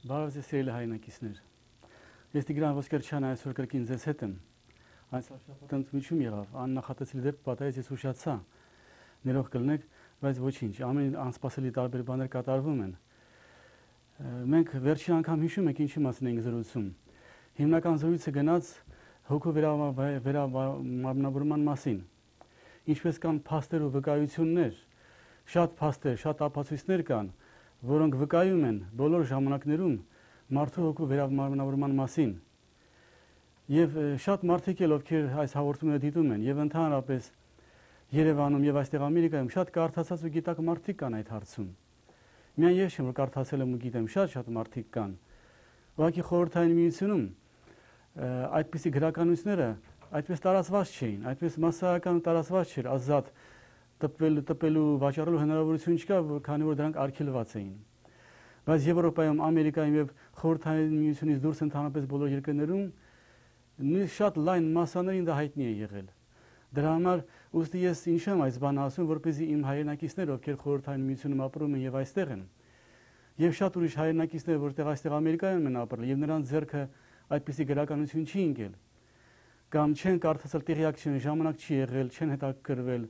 Բարև ձեզ սիրելի հայրենակիցներ։ Ես Տիգրան Ոսկերչյան այսօր կրկին ձեզ հետ եմ։ Այս շաբաթը ընդմիջում եղավ, աննախատեսելի դեպք պատահեց, ես ուշացա։ Ներող կլինեք, բայց ոչինչ, ամեն անսպասելի տարբեր բաներ կատարվում են։ Մենք վերջին անգամ հիշում ենք ինչի մասին ենք զրուցում։ Հիմնական զրույցը գնաց հոգու վերամարմնավորման մասին։ Ինչպես կան փաստեր ու վկայություններ, շատ փաստեր, շատ ապացույցներ կան, որոնք վկայում են բոլոր ժամանակներում մարդու հոգու վերամարմնավորման մասին։ Եվ շատ մարդիկ էլ ովքեր այս հաղորդումները դիտում են եւ ընդհանրապես Երևանում եւ այստեղ Ամերիկայում շատ կարդացած ու գիտակ մարդիկ կան այդ հարցում։ Միայն ես չեմ որ կարդացել եմ ու գիտեմ, շատ մարդիկ կան։ Ուղղակի խորհրդային միությունում այդպիսի գրականությունները այդպես տարածված չէին, այդպես մասսայական տարածված չէր, ազատ տպելու, վաճառելու հնարավորություն չկա, քանի որ դրանք արգելված էին։ Բայց Եվրոպայում, Ամերիկայում եւ խորհրդային միությունից դուրս ընդհանրապես բոլոր երկրներում շատ լայն մասաներին դա հայտնի է եղել։ Դրա համար ուստի ես ինչ եմ այս բանը ասում, որպեսզի իմ հայրենակիցները, ովքեր խորհրդային միությունում ապրում են եւ այստեղ են, եւ շատ ուրիշ հայրենակիցներ, որտեղ այստեղ Ամերիկայում են ապրել եւ նրանց ձեռքը այդպիսի գրականություն չի ընկել, կամ չեն կարդացել, տեղյակ չեն, ժամանակ չի եղել, չեն հետաքրքրվել,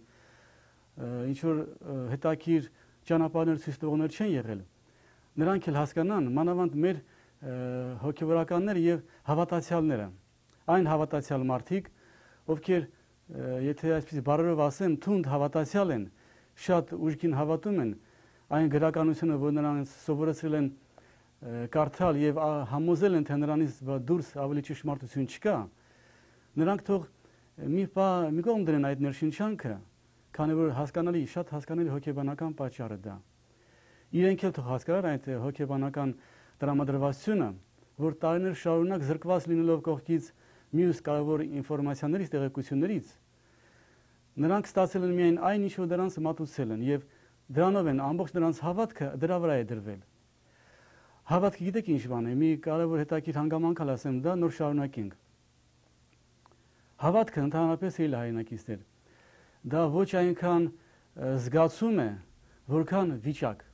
ինչ որ հետաքրքիր ճանապարհներ ցույց տվողներ չեն եղել, նրանք էլ հասկանան, մանավանդ մեր հոգեվորականները եւ հավատացյալները, այն հավատացյալ մարդիկ, ովքեր եթե այսպես բառերով ասեմ, թունդ հավատացյալ են, շատ ուժգին հավատում են այն գրականությունը, որ նրանց սովորեցրել են կարդալ եւ համոզել են, թե նրանից դուրս ավելի ճշմարտություն չկա, նրանք թող մի կողմ դրեն այդ ներշնչանքը, քանի որ հասկանալի, շատ հասկանալի հոգեբանական պատճառ է դա։ Իրենք էլ թող հասկանան այդ հոգեբանական տրամադրվածությունը, որ տարիներ շարունակ զրկված լինելով կողքից մյուս կարևոր ինֆորմացիաներից, տեղեկություններից, նրանք ստացել են միայն այն, ինչ որ դրանց մատուցել են եւ դրանով են ամբողջ նրանց հավատքը դրա վրա է դրվել։ Հավատքը գիտեք ինչ բան է, մի կարևոր հետաքրքիր հանգամանք ասեմ, դա նոր շարունակենք։ Հավատքը ընդհանրապես էլ հայրենակիցներ, դա ոչ այնքան զգացում է, որքան վիճակ,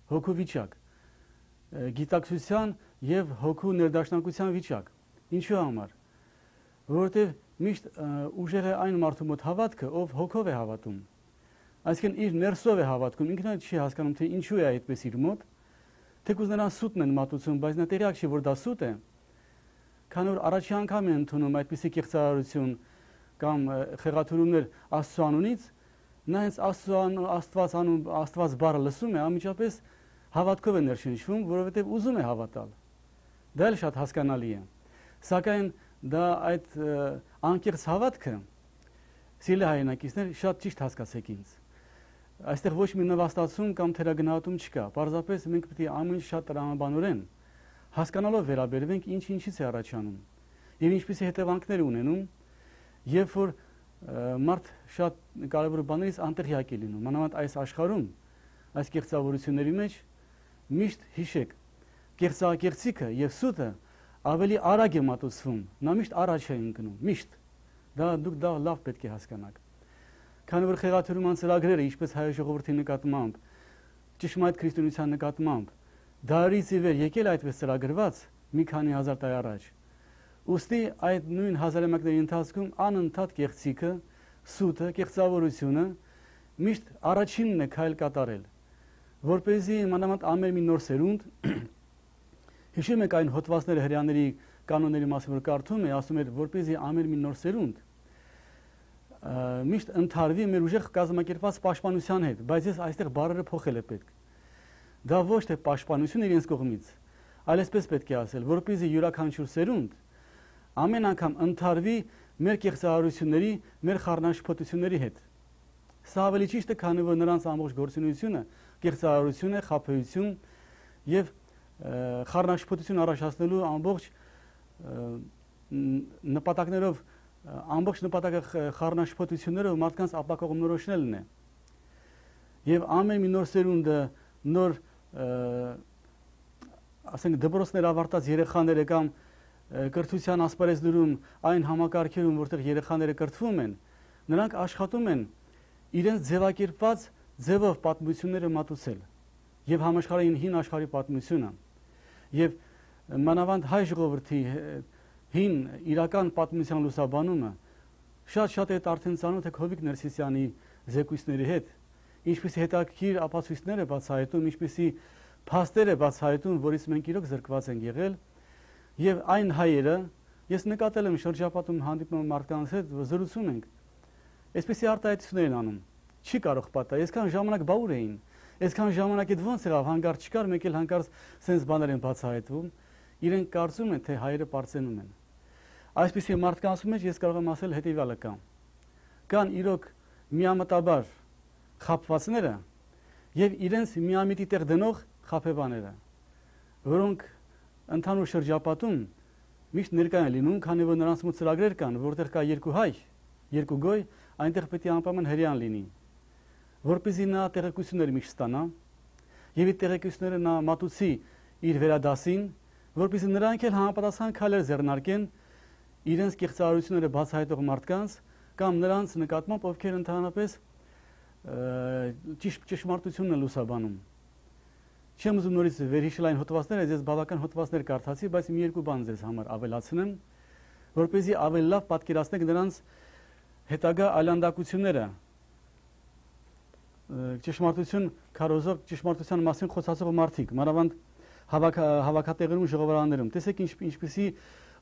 հոգու վիճակ, գիտակցության եւ հոգու ներդաշնակության վիճակ։ Ինչու համար? Որովհետեւ միշտ ուժեղ է այն մարդու մոտ հավատքը, ով հոգով է հավատում։ Այսինքն իր ներսով է հավատքում, ինքն էլ չի հասկանում, թե ինչու է այդպես իր մոտ, թեկուզ նրան սուտն են մատուցում, բայց նա տեղյակ չի, որ դա սուտ է, քանի որ առաջի անգամ է ընդունում այդպիսի կեղծարարություն կամ խեղաթյուրումներ Աստծո անունից, նա հենց Աստված բառը լսում է, անմիջապես հավատքով է ներշնչվում, որովհետև ուզում է հավատալ։ Դա էլ շատ հասկանալի է։ Սակայն դա այդ անկեղծ հավատքը, սիրելի հայրենակիցներ, շատ ճիշտ հասկացեք ինձ։ Այստեղ ոչ մի նվաստացում կամ թերագնահատում չկա, պարզապես մենք պետք է ամեն ինչ շատ տրամաբանորեն հասկանալով վերաբերվենք ինչից է առաջանում եւ ինչպիսի հետևանքներ ունենում, երբ որ մարդ շատ կարևոր բաներից անտեղյակ է լինում, մանավանդ այս աշխարհում, այս կեղծավորությունների մեջ միշտ հիշեք, կեղծակեղծիքը եւ սուտը ավելի արագ է մատուցվում, նա միշտ առաջ է ընկնում, միշտ։ Դուք դա լավ պետք է հասկանաք։ Քանի որ խեղաթյուրման ծրագրերը, ինչպես հայ ժողովրդի նկատմամբ, ճշմարիտ քրիստոնեության նկատմամբ, դարից ի վեր եկել այդպես ծրագրված մի քանի հազար տարի առաջ։ Ուստի այդ նույն հազարամյակների ընթացքում անընդհատ կեղծիքը, սուտը, կեղծավորությունը միշտ առաջինն է քայլ կատարել, որպեսզի մանավանդ ամեն մի նոր սերունդ հիշում եք այն հոդվածները հրեաների կանոնների մասին, որ կարդում է, ասում էր, որպեսզի ամեն մի նոր սերունդ միշտ ընթարվի մեր ուժեղ կազմակերպված պաշտպանության հետ, բայց ես այստեղ բառերը փոխել է պետք։ Դա ոչ թե պաշտպանություն իրենց կողմից, այլ այսպես պետք է ասել, որպեսզի յուրաքանչյուր սերունդ ամեն անգամ ընթարվի մեր կեղծարարությունների, մեր խառնաշփոթությունների հետ։ Սա ավելի ճիշտ է, քանի որ նրանց ամբողջ գործունեությունը կեղծարարություն է, խաբեություն եւ խառնաշփոթություն առաջացնելու ամբողջ նպատակներով, ամբողջ նպատակը խառնաշփոթություններով մարդկանց ապակողմնորոշնելն է։ Եվ ամեն մի նոր սերունդը, նոր ասենք դպրոցներ ավարտած երեխաները կամ կրթության ասպարեզներում այն համակարգերում, որտեղ երեխաները կրթվում են, նրանք աշխատում են իրենց ձևակերպված ձևով պատմությունները մատուցել եւ համաշխարհային հին աշխարհի պատմությունը։ եւ մանավանդ հայ ժողովրդի հին իրական պատմության լուսաբանումը շատ է արդեն ծանոթ է Հովիկ Ներսիսյանի զեկույցների հետ, ինչպիսի հետաքրքիր ապացույցներ է բացահայտում, ինչպիսի փաստեր է բացահայտում, որից մենք իրոք զրկված ենք եղել, եւ այն հայերը, ես նկատել եմ շրջապատում հանդիպում մարդկանց հետ, զրուցում ենք, այսպիսի արտահայտություններ են անում, չի կարող պատահել, այսքան ժամանակ բաուր էին, այսքան ժամանակ այդ ոնց եղավ, հանկարծ չկար, մեկ էլ հանկարծ սենց բաներ են բացահայտվում, իրենք կարծում են, թե հայերը պարծենում են։ Այսպիսի մարդկանց մեջ ես կարող եմ ասել հետևյալը կան իրոք միամտաբար խաբվածները եւ իրենց միամիտի տեղ դնող խաբեբաները, որոնք ընդհանուր շրջապատում միշտ ներկա են լինում, քանի որ նրանց մոտ ծրագրեր կան, որտեղ կա երկու հայ, երկու գոյ, այնտեղ պետք է անպայման հրեան լինի, որպեսզի նա տեղեկություններ միշտ ստանա եւ այդ տեղեկությունները նա մատուցի իր վերադասին, որպեսզի նրանք էլ համապատասխան քայլեր ձեռնարկեն իրենց կեղծարարությունները բացահայտող մարդկանց կամ նրանց նկատմամբ, ովքեր ընդհանրապես ճշմարտությունն են լուսաբանում։ Չեմ ուզում նորից վերհիշել այն հոդվածները, ես բավական հոդվածներ կարդացի, բայց մի երկու բան ձեզ համար ավելացնեմ, որպեսզի ավելի լավ պատկերացնեք նրանց հետագա այլանդակությունները, ճշմարտություն քարոզող, ճշմարտության մասին խոսացող մարդիկ, մանավանդ հավաքատեղերում, ժողովարաններում։ Տեսեք ինչպիսի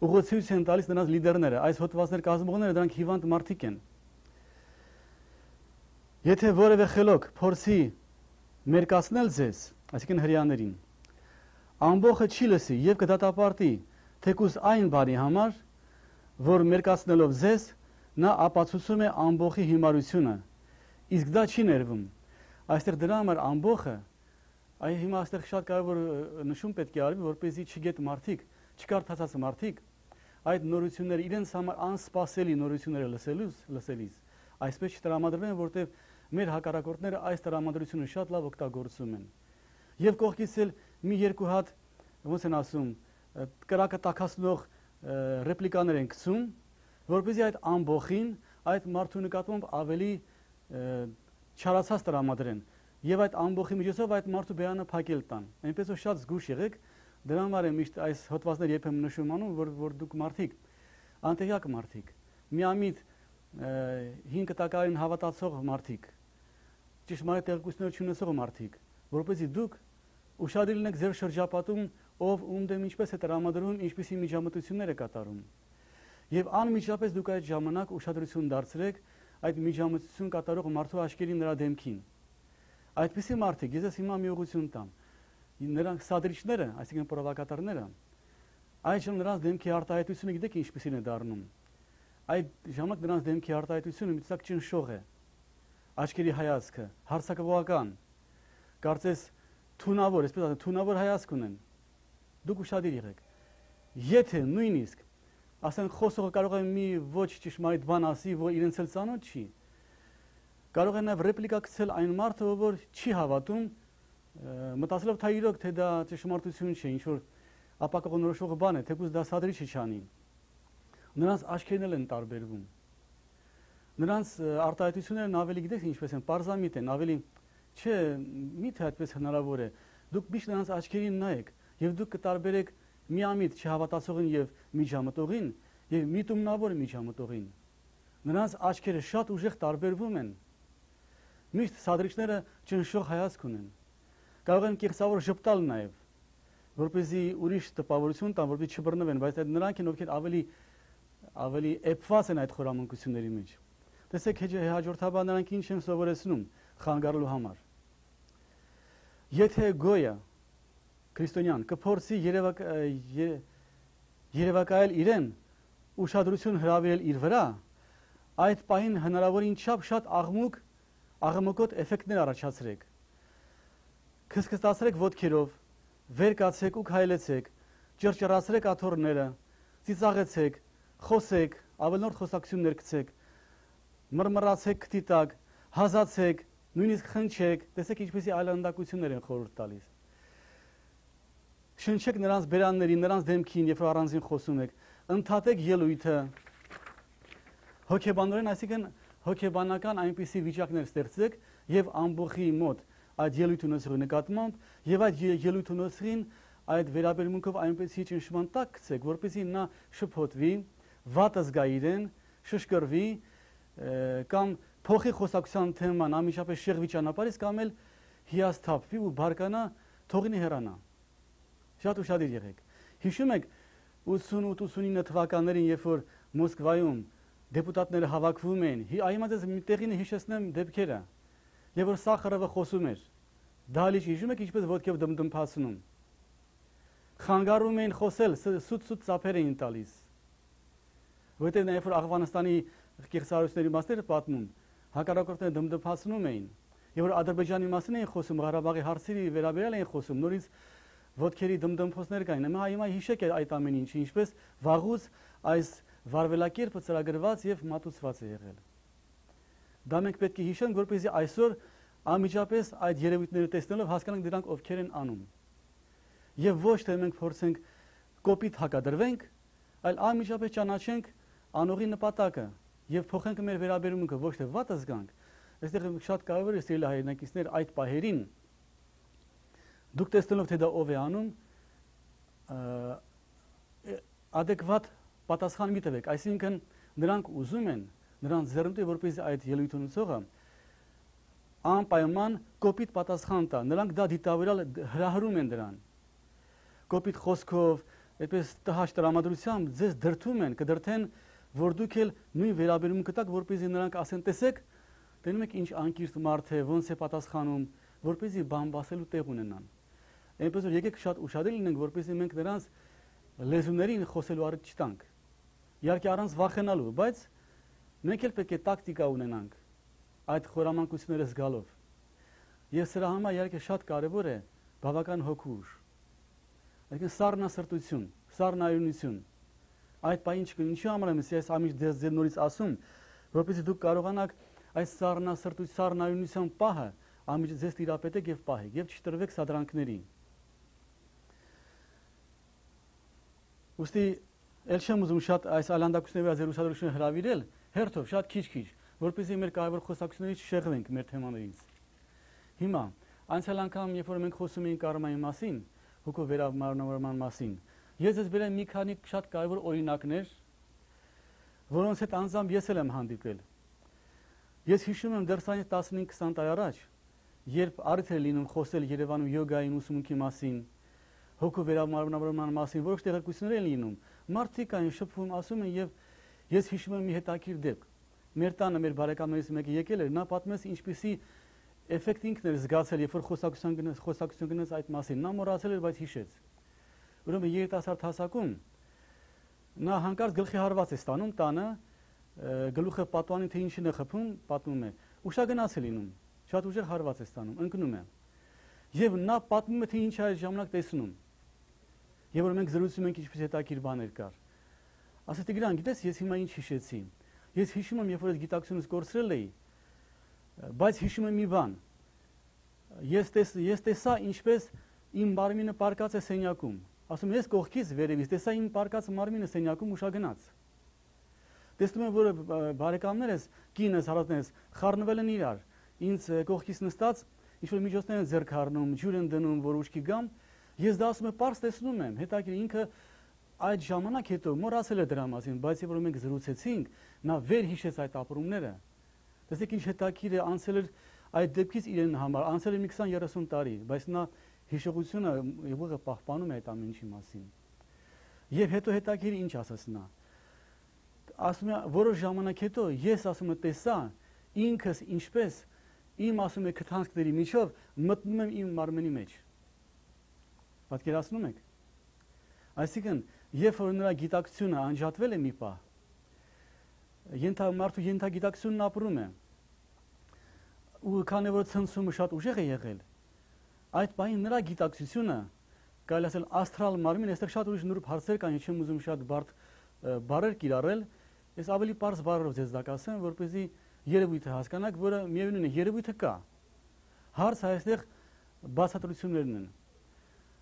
ուղղություն են տալիս նրանց լիդերները, այս հոդվածներ կազմողները, դրանք հիվանդ մարդիկ են։ Եթե որևէ խելոք փորձի մերկացնել ձեզ, այսինքն հրեաներին, ամբողջը չի լսի եւ կդատապարտի թեկուզ այն բանի համար, որ մերկացնելով ձեզ, նա ապացուցում է ամբողջի հիմարությունը, իսկ դա չի ներվում։ Այստեղ դրա համար ամբողջը, այ հիմա այստեղ շատ կարևոր նշում պետք է արվի, որպեսզի չգետ մարդիկ, չկարդացած մարդիկ այդ նորությունները իրենց համար անսպասելի նորությունները լսելիս այսպես չտրամադրվեն, որտեղ մեր հակառակորդները այս տրամադրությունը շատ լավ օգտագործում են։ Եվ կողքից էլ մի երկու հատ, ոնց են ասում, կրակը տաքացնող ռեպլիկաներ են գցում, որպեսզի այդ ամբողջին այդ մարդու նկատմամբ ավելի չարացած տրամադրեն եւ այդ ամբողջի միջոցով այդ մարդու բերանը փակել տան։ Այնպես որ շատ զգուշ եղեք, դրա համար է միշտ այս հոդվածները երբեմն նշում անում, որ դուք մարդիկ, անտեղյակ մարդիկ, միամիտ 5 տակային հավատացող մարդիկ, ճշմարիտ տեղեկություններ չունեցող մարդիկ, որպեսզի դուք ուշադիր լինեք ձեր շրջապատում, ով ում դեմ ինչպես է տրամադրում, ինչպիսի միջամտություններ է կատարում։ Եվ անմիջապես դուք այդ ժամանակ ուշադրություն դարձրեք այդ միջամտություն կատարող մարդու աչքերին նրա դեմքին։ Այդպիսի մարդիկ, ես հիմա մի ուղղություն տամ, նրանք սադրիչները, այսինքն պրովոկատորները, այժմ նրանց դեմքի արտահայտությունը գիտեք ինչպիսին է դառնում։ Այդ ժամանակ նրանց դեմքի արտահայտությունը մի տեսակ ճնշող է, աչքերի հայացքը, հարձակողական, կարծես թունավոր, այսպես ասած, թունավոր հայացք ունեն։ Դուք ուշադիր եղեք։ Եթե նույնիսկ ասեն խոսողը կարող է մի ոչ ճշմարիտ բան ասի, որ իրենց էլ ծանոթ չի, կարող է նաև ռեպլիկա գցել այն մարդը, որ չի հավատում, մտածելով թե իրոք թե դա ճշմարտություն չէ, ինչ որ ապակողնորոշող բան է, թեկուզ դա սադրիչը չանի։ Նրանց աչքերն են տարբերվում։ Նրանց արտահայտություններն ավելի գիտեք ինչպես են, պարզամիտ են, ավելի չէ, միթե այդպես հնարավոր է։ Դուք միշտ նրանց աչքերին նայեք եւ դուք կտարբերեք միամիտ չհավատացողին եւ միջամտողին եւ միտումնավոր միջամտողին։ Նրանց աչքերը շատ ուժեղ տարբերվում են։ Միշտ սադրիչները ճնշող հայացք ունեն։ Կարող են կեղծավոր ժպտալ նաեւ, որպեսզի ուրիշ տպավորություն տան, որպեսզի չբռնվեն, բայց այդ նրանք են, ովքեր ավելի էփված են այդ խորամանկությունների մեջ։ Տեսեք հաջորդաբար նրանք ինչ են սովորեցնում խանգարելու համար։ Եթե գոյը քրիստոնյան կփորձի երևակայել իրեն, ուշադրություն հրավիրել իր վրա, այդ պահին հնարավորին չափ շատ աղմուկոտ էֆեկտներ առաջացրեք։ Քսքստացրեք ոտքերով, վեր կացեք ու քայլեցեք, ճռճռացրեք աթոռները, ծիծաղեցեք, խոսեք, ավելորդ խոսակցություններ գցեք, մռմռացեք քթի տակ, հազացեք, նույնիսկ խնչեք, տեսեք ինչպեսի այլանդակություններ են խորհուրդ տալիս։ Շնչեք նրանց բերաններին, նրանց դեմքին, երբ առանձին խոսում եք, ընդհատեք ելույթը։ Հոգեբանորեն, այսինքն հոգեբանական այնպիսի վիճակներ ստեղծեք եւ ամբողջի մոտ այդ ելույթ ունեցողի նկատմամբ եւ այդ ելույթ ունեցողին այդ վերաբերմունքով այնպեսի ճնշման տակ գցեք, որպեսզի նա շփոթվի, վատ զգա իրեն, շշկրվի կամ փոխի խոսակցության թեման անմիջապես շեղվի ճանապարհից կամ էլ հիասթափվի ու բարկանա, թողնի հեռանա։ Շատ ուշադիր եղեք։ Հիշում եք 88-89 թվականներին, երբ որ Մոսկվայում դեպուտատները հավաքվում էին, այմա ձեզ մի տեղին հիշեցնեմ դեպքերը, եւ որ Սախարովը խոսում էր, Դալիճ հիշում եք ինչպես ոտքով դմդմփացնում, խանգարում էին խոսել, սուտ ծափեր էին տալիս, որտեղ նաև որ Աֆղանստանի կեղծարարությունների մասները պատմում, հակառակորդները դմդմփացնում էին, եւ որ Ադրբեջանի մասին էին խոսում, Ղարաբաղի հարցերի վերաբերյալ էին խոսում, նորից ոտքերի դմդմփոցներ կային, հիմա հիշեք այդ ամեն ինչը, ինչպես վաղուց այս վարվելակերպը ծրագրված եւ մատուցված է եղել։ Դա մենք պետք է հիշենք, որպեսզի այսօր անմիջապես այդ երևույթները տեսնելով հասկանանք դրանք ովքեր են անում։ Եվ ոչ թե մենք փորձենք կոպիտ հակադրվենք, այլ անմիջապես ճանաչենք անողի նպատակը եւ փոխենք մեր վերաբերմունքը, ոչ թե վատ զգանք։ Այստեղ շատ կարևոր է սիրելի հայրենակիցներ այդ պահերին դուք տեսնելով թե դա ով է անում, adekvat պատասխան մի տվեք, այսինքն նրանք ուզում են, նրանց ձեռնտու է, որպեսզի այդ ելույթ ունեցողը անպայման կոպիտ պատասխան տա, նրանք դա դիտավորյալ հրահրում են դրան, կոպիտ խոսքով, այդպես տհաճ տրամադրությամբ ձեզ դրդում են, կդրդեն, որ դուք էլ նույն վերաբերմունքը տաք, որպեսզի նրանք ասեն, տեսեք, տենում եք ինչ անկիրթ մարդ է, ոնց է պատասխանում, որպեսզի բամբասելու տեղ ունենան։ Այնպես որ եկեք շատ ուշադիր լինենք, որպեսզի մենք նրանց լեզուներին խոսելու առիթ չտանք։ Իհարկե առանց վախենալու, բայց մենք էլ պետք է տակտիկա ունենանք այդ խորամանկությունները զգալով։ Եվ սրա համար իհարկե շատ կարևոր է բավական հոգուշ։ Այսինքն սառնասրտություն, սառնայունություն։ Այդ բանը ինչու համար եմ ես ամիջ ձեզ նորից ասում, որպեսզի դուք կարողանաք այս սառնասրտության պահը ամիջ ձեզ տիրապետեք եւ պահեք եւ չտրվեք սադրանքների։ Ուստի ել չեմ ուզում շատ այս այլանդակությունների վրա ձեր ուսադրությունը հրավիրել, հերթով շատ քիչ, որպեսզի մեր կարևոր խոսակցություններից չշեղվենք մեր թեմաներից։ Հիմա անցյալ անգամ, երբ որ մենք խոսում էինք կարմայի մասին, հոգու վերաբերման մասին, ես ձեզ բերեմ մի քանի շատ կարևոր օրինակներ, որոնց հետ անձամբ ես էլ եմ հանդիպել։ Ես հիշում եմ դեռ 15-20 տարի առաջ, երբ առիթ էր լինում խոսել Երևանում յոգայի ուսումնքի մասին, հոգու վերաբերման մասին, որոշ տեղեկություններ են լինում, մարդիկ այն շփվում, ասում են եւ ես հիշում եմ մի հետաքրքիր դեպք։ Մեր տանը մեր բարեկամներից մեկը եկել էր, նա պատմեց ինչպիսի էֆեկտ ինքն էր զգացել, երբ որ խոսակցություն գնաց այդ մասին։ Նա մոռացել էր, բայց հիշեց։ Ուրեմն երիտասարդ հասակում նա հանկարծ գլխի հարված է ստանում տանը, գլուխը պատուանին թե ինչին է խփում, պատմում է։ Ուշագնաց է լինում, շատ ուժեղ հարված է ստանում, ընկնում է։ Եվ նա պատմում է թե ինչ է այդ ժամանակ տեսնում։ Եվ որ մենք զրուցում ենք ինչպես հետաքրքիր բաներ կար։ Ասեց Տիգրան, գիտես, ես հիմա ինչ հիշեցի։ Ես հիշում եմ, երբ որ այդ գիտակցությունս կորցրել էի, բայց հիշում եմ մի բան։ Ես տեսա ինչպես իմ մարմինը պարկած է սենյակում։ Ասում ես կողքից վերևից տեսա իմ պարկած մարմինը սենյակում ուշագնաց։ Տեսնում եմ, որ բարեկամներս, կինս, հարազատներս խառնվել են իրար։ Ինձ կողքից նստած ինչ-որ միջոցներ են ձեռք առնում, ջուր են դնում, որ ուշքի գամ։ Ես դա ասում եմ, պարզ տեսնում եմ, հետաքրքիր ինքը այդ ժամանակ հետո մոռացել է դրա մասին, բայց երբ որ մենք զրուցեցինք, նա վեր հիշեց այդ ապրումները։ Տեսեք ինչ հետաքրքիր է, անցել էր այդ դեպքից իրեն համար, անցել է մի 20-30 տարի, բայց նա հիշողությունը ուղղը պահպանում է այդ ամեն ինչի մասին։ Եվ հետո հետաքրքիր ինչ ասաց նա։ Ասում է, որոշ ժամանակ հետո ես ասում եմ տեսա ինքս ինչպես իմ ասում է քթանցքների միջով մտնում եմ իմ մարմնի մեջ։ Պատկերացնում եք։ Այսինքն, երբ որ նրա գիտակցությունը անջատվել է մի պահ, մարդու ենթագիտակցությունն ապրում է, ու քանի որ ցնցումը շատ ուժեղ է եղել, այդ բանի նրա գիտակցությունը, կարելի ասել աստրալ մարմին, այստեղ շատ ուրիշ նուրբ հարցեր կան, չեմ ուզում շատ բարդ բառեր կիրառել, ես ավելի պարզ բառերով ձեզ դա կասեմ, որպեսզի երևույթը հասկանաք, որը միևնույն է, երևույթը կա։ Հարցը այստեղ բացատրություններն են։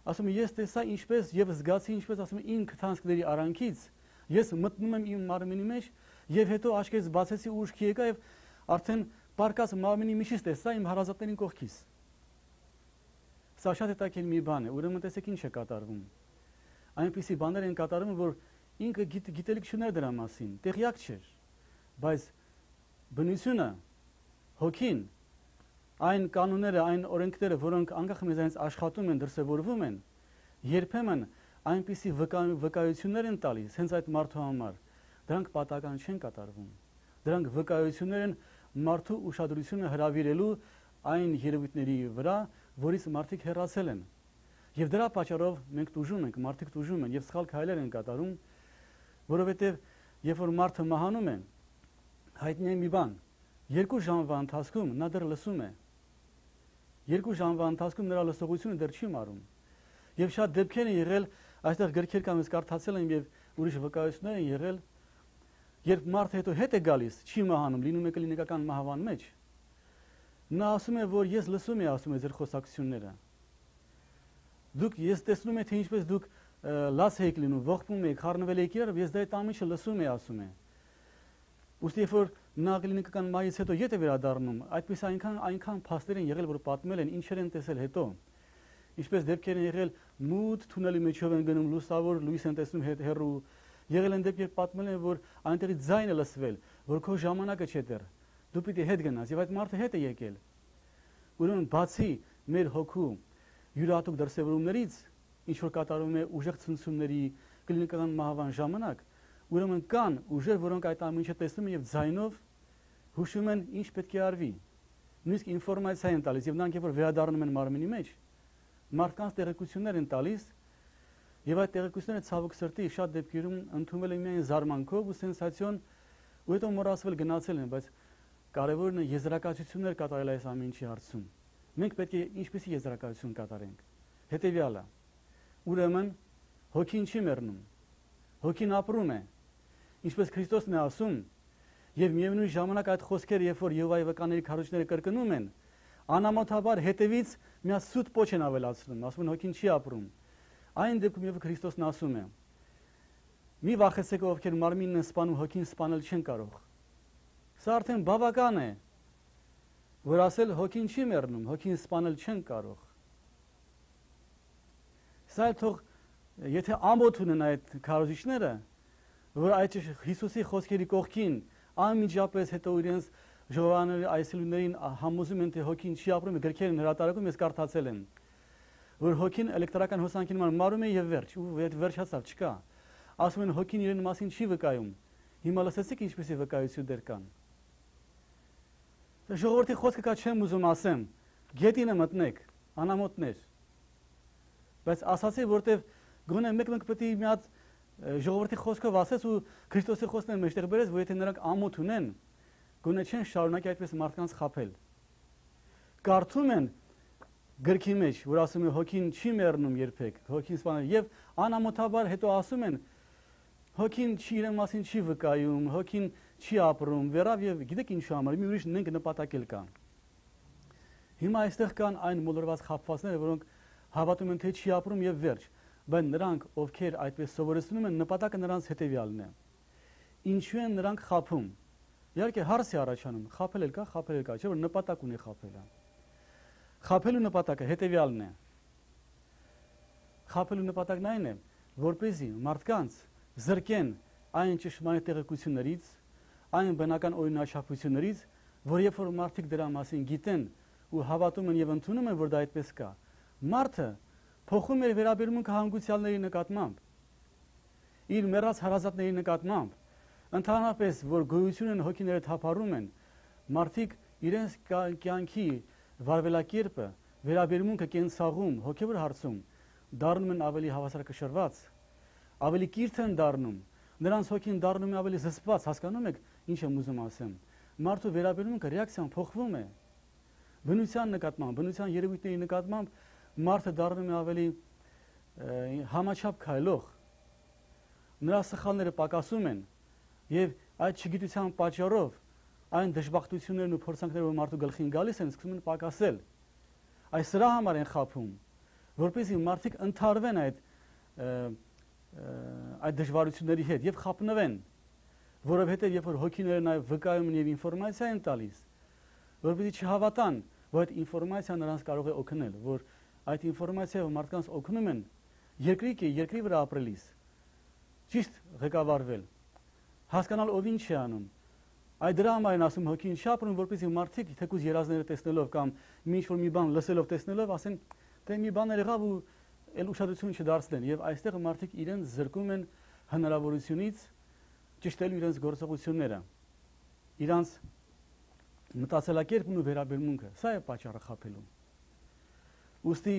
Ասում եմ, ես տեսա ինչպես եւ զգացի ինչպես ասում եմ իմ քթանցքների արանքից ես մտնում եմ իմ մարմնի մեջ եւ հետո աչքերս բացեցի ու ուշքի եկա եւ արդեն պարկած մարմնի միջից տեսա իմ հարազատներին կողքից։ Սա շատ հետաքրքիր մի բան է, ուրեմն տեսեք ինչ է կատարվում։ Այնպիսի բաներ են կատարվում, որ ինքը գիտելիք չուներ դրա մասին, տեղյակ չէր, բայց բնությունը, հոգին, այն կանոնները, այն օրենքները, որոնք անկախ մեզանից աշխատում են, դրսևորվում են, երբեմն այնպիսի վկայություններ են տալիս հենց այդ մարդու համար, դրանք պատահական չեն կատարվում։ Դրանք վկայություններ են մարդու ուշադրությունը հրավիրելու այն երևույթների վրա, որից մարդիկ հեռացել են։ Եվ դրա պատճառով մենք տուժում ենք, մարդիկ տուժում են եւ սխալ քայլեր են կատարում, որովհետեւ երբ որ մարդը մահանում է, հայտնի է մի բան, 2 ժամվա ընթացքում նա դեռ լսում է։ 2 ժամվա ընթացքում նրա լսողությունը դեռ չի մարում։ Եվ շատ դեպքեր են եղել, այստեղ գրքեր կան, ես կարդացել եմ եւ ուրիշ վկայություններ են եղել, երբ մարդը հետո հետ է գալիս, չի մահանում, լինում է կլինիկական մահվան մեջ։ Նա ասում է, որ ես լսում եմ, ասում է ձեր խոսակցությունները։ Դուք ես տեսնում եմ, թե ինչպես դուք լաց եք լինում, ողբում եք, խառնվել եք իրար, ես դա այդ ամիջը լսում եմ, ասում է։ Ուստի երբ որ նա կլինիկական մահից հետո ետ է վերադառնում, այդպես այնքան փաստեր են եղել, որ պատմել են, ինչեր են տեսել հետո։ Ինչպես դեպքեր են եղել, մութ թունելի միջով են գնում, լուսավոր լույս են տեսնում հեռու։ Եղել են դեպքեր պատմել են, որ այնտեղից ձայն է լսվել, որ քո ժամանակը չէ դեռ։ Դու պիտի հետ գնաս, եւ այդ մարդը հետ է եկել։ Ուրեմն բացի մեր հոգու յուրահատուկ դրսևորումներից, ինչ որ կատարվում է ուժեղ ցնցումների կլինիկական մահվան ժամանակ, ուրեմն կան ուժեր, որոնք այդ ամենը տեսնում են եւ ձայնով հուշում են ինչ պետք է արվի։ Նույնիսկ ինֆորմացիա են տալիս եւ նրանք երբ որ վերադառնում են մարմինի մեջ, մարդկանց տեղեկություններ են տալիս եւ այդ տեղեկությունները ցավոք սրտի շատ դեպքերում ընդունվել են միայն զարմանքով ու սենսացիոն ու հետո մոռացվել գնացել են, բայց կարևորն է եզրակացություններ կատարել այս ամենի հարցում։ Մենք պետք է ինչպեսի եզրակացություն կատարենք։ Հետևյալը. ուրեմն հոգին չի մեռնում։ Հոգին ապրում է։ Ինչպես Քրիստոսն է ասում, եւ միևնույն ժամանակ այդ խոսքերը, երբ որ Եհովայի վկաների քարոզիչները կրկնում են, անամոթաբար հետևից մի սուտ պոչ են ավելացնում, ասում են հոգին չի ապրում։ Այն դեպքում երբ Քրիստոսն ասում է. մի վախեցեք, ովքեր մարմինն են սպանում, հոգին սպանել չեն կարող։ Սա արդեն բավական է, որ ասել հոգին չի մեռնում, հոգին սպանել չեն կարող։ Սա թող եթե ամոթ ունեն այդ քարոզիչները, որ այդ Հիսուսի խոսքերի կողքին անմիջապես հետո իրենց ժողովրդների այցելուներին համոզում են, թե հոգին չի ապրում, գրքեր են հրատարակում, ես կարդացել եմ, որ հոգին էլեկտրական հոսանքի նման մարում է եւ վերջ, ու վերջացավ, չկա։ Ասում են հոգին իրեն մասին չի վկայում։ Հիմա լսեցիք ինչպեսի վկայություններ կան։ Ժողովրդի խոսքը կա չեմ ուզում ասեմ, գետինը մտնեք, անամոթներ։ Բայց ասացի, որտեվ գոնե մեկ պետք է մի հատ ժողովրդի խոսքով ասես ու Քրիստոսի խոսքն մեջտեղ բերես, որ եթե նրանք ամոթ ունեն, գոնե չեն շարունակի այդպես մարդկանց խաբել։ Կարդում են գրքի մեջ, որ ասում է հոգին չի մեռնում երբեք, հոգին սպանել եւ անամոթաբար հետո ասում են հոգին չի իրեն մասին չի վկայում, հոգին չի ապրում, վերավ եւ գիտեք ինչու համար, մի ուրիշ նենք նպատակ էլ կա։ Հիմա այստեղ կան այն մոլորված խաբվածները, որոնք հավատում են թե չի ապրում եւ վերջ, բայց նրանք ովքեր այդպես սովորեցնում են, նպատակը նրանց հետեւյալն է։ Ինչու են նրանք խաբում։ Իհարկե հարց է առաջանում, խաբել էլ կա, չէ՞ որ նպատակ ունի խաբելը։ Խաբելու նպատակը հետեւյալն է։ Խաբելու նպատակն այն է, որպեսզի մարդկանց զրկեն այն ճշմարիտ տեղեկություններից, այն բնական օրինաչափություններից, որ երբ որ մարդիկ դրա մասին գիտեն ու հավատում են եւ ընդունում են, որ դա այդպես կա, մարդը փոխում է վերաբերմունքը հանգուցյալների նկատմամբ, իր մեռած հարազատների նկատմամբ, ընդհանրապես որ գոյությունն հոգիները թափառում են, մարդիկ իրենց կյանքի վարվելակերպը, վերաբերմունքը կենցաղում, հոգևոր հարցում դառնում են ավելի հավասարակշռված, ավելի կիրթ են դառնում, նրանց հոգին դառնում է ավելի զսպված, հասկանում եք ինչ եմ ուզում ասեմ։ Մարդու վերաբերմունքը ռեակցիան փոխվում է։ Բնության նկատմամբ, բնության երևույթների նկատմամբ մարդը դառնում է ավելի համաչափ քայլող։ Նրա սխալները պակասում են եւ այդ չգիտության պատճառով այն դժբախտություններն ու փորձանքները, որ մարդու գլխին գալիս են, սկսում են պակասել։ Այս սրա համար են խաբում, որպեսզի մարդիկ ընթարվեն այդ դժվարությունների հետ եւ խափնվեն, որովհետեւ երբ որ հոգիները նաեւ վկայում են եւ ինֆորմացիա են տալիս, որպեսզի չհավատան, որ այդ ինֆորմացիան նրանց կարող է օգնել, որ այդ ինֆորմացիայով մարդկանց օգնում են երկրի վրա ապրելիս ճիշտ ղեկավարվել, հասկանալ ով ինչ է անում։ Այդ դրա համար են ասում հոգին շապրում, որպեսզի մարդիկ թեկուզ երազները տեսնելով կամ ինչ-որ մի բան լսելով տեսնելով ասեն, թե մի բան եղավ ու էլ ուշադրություն չդարձնեն, եւ այստեղ մարդիկ իրենց զրկում են հնարավորությունից ճշտելու իրենց գործողությունները, իրենց մտածելակերպն ու վերաբերմունքը։ Սա է պատճառը խաբելու։ Ուստի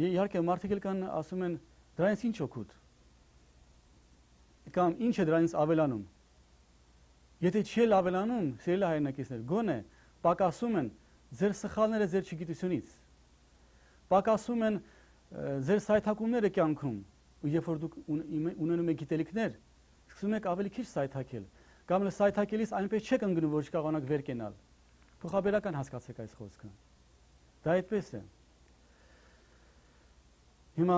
իհարկե մարդիկ կան ասում են դրանից ինչ օգուտ կամ ինչ է դրանից ավելանում։ Եթե չի ավելանում, սիրելի հայրենակիցներ, գոնե պակասում են ձեր սխալները ձեր չգիտությունից, պակասում են ձեր սայթակումները կյանքում, ու երբ որ դուք ունենում եք գիտելիքներ, սկսում եք ավելի քիչ սայթակել, կամ սայթակելիս այնպես չեք ընկնում, որ չկարողանաք վեր կենալ։ Փոխաբերական հասկացեք այս խոսքը։ Դա այդպես է։ Հիմա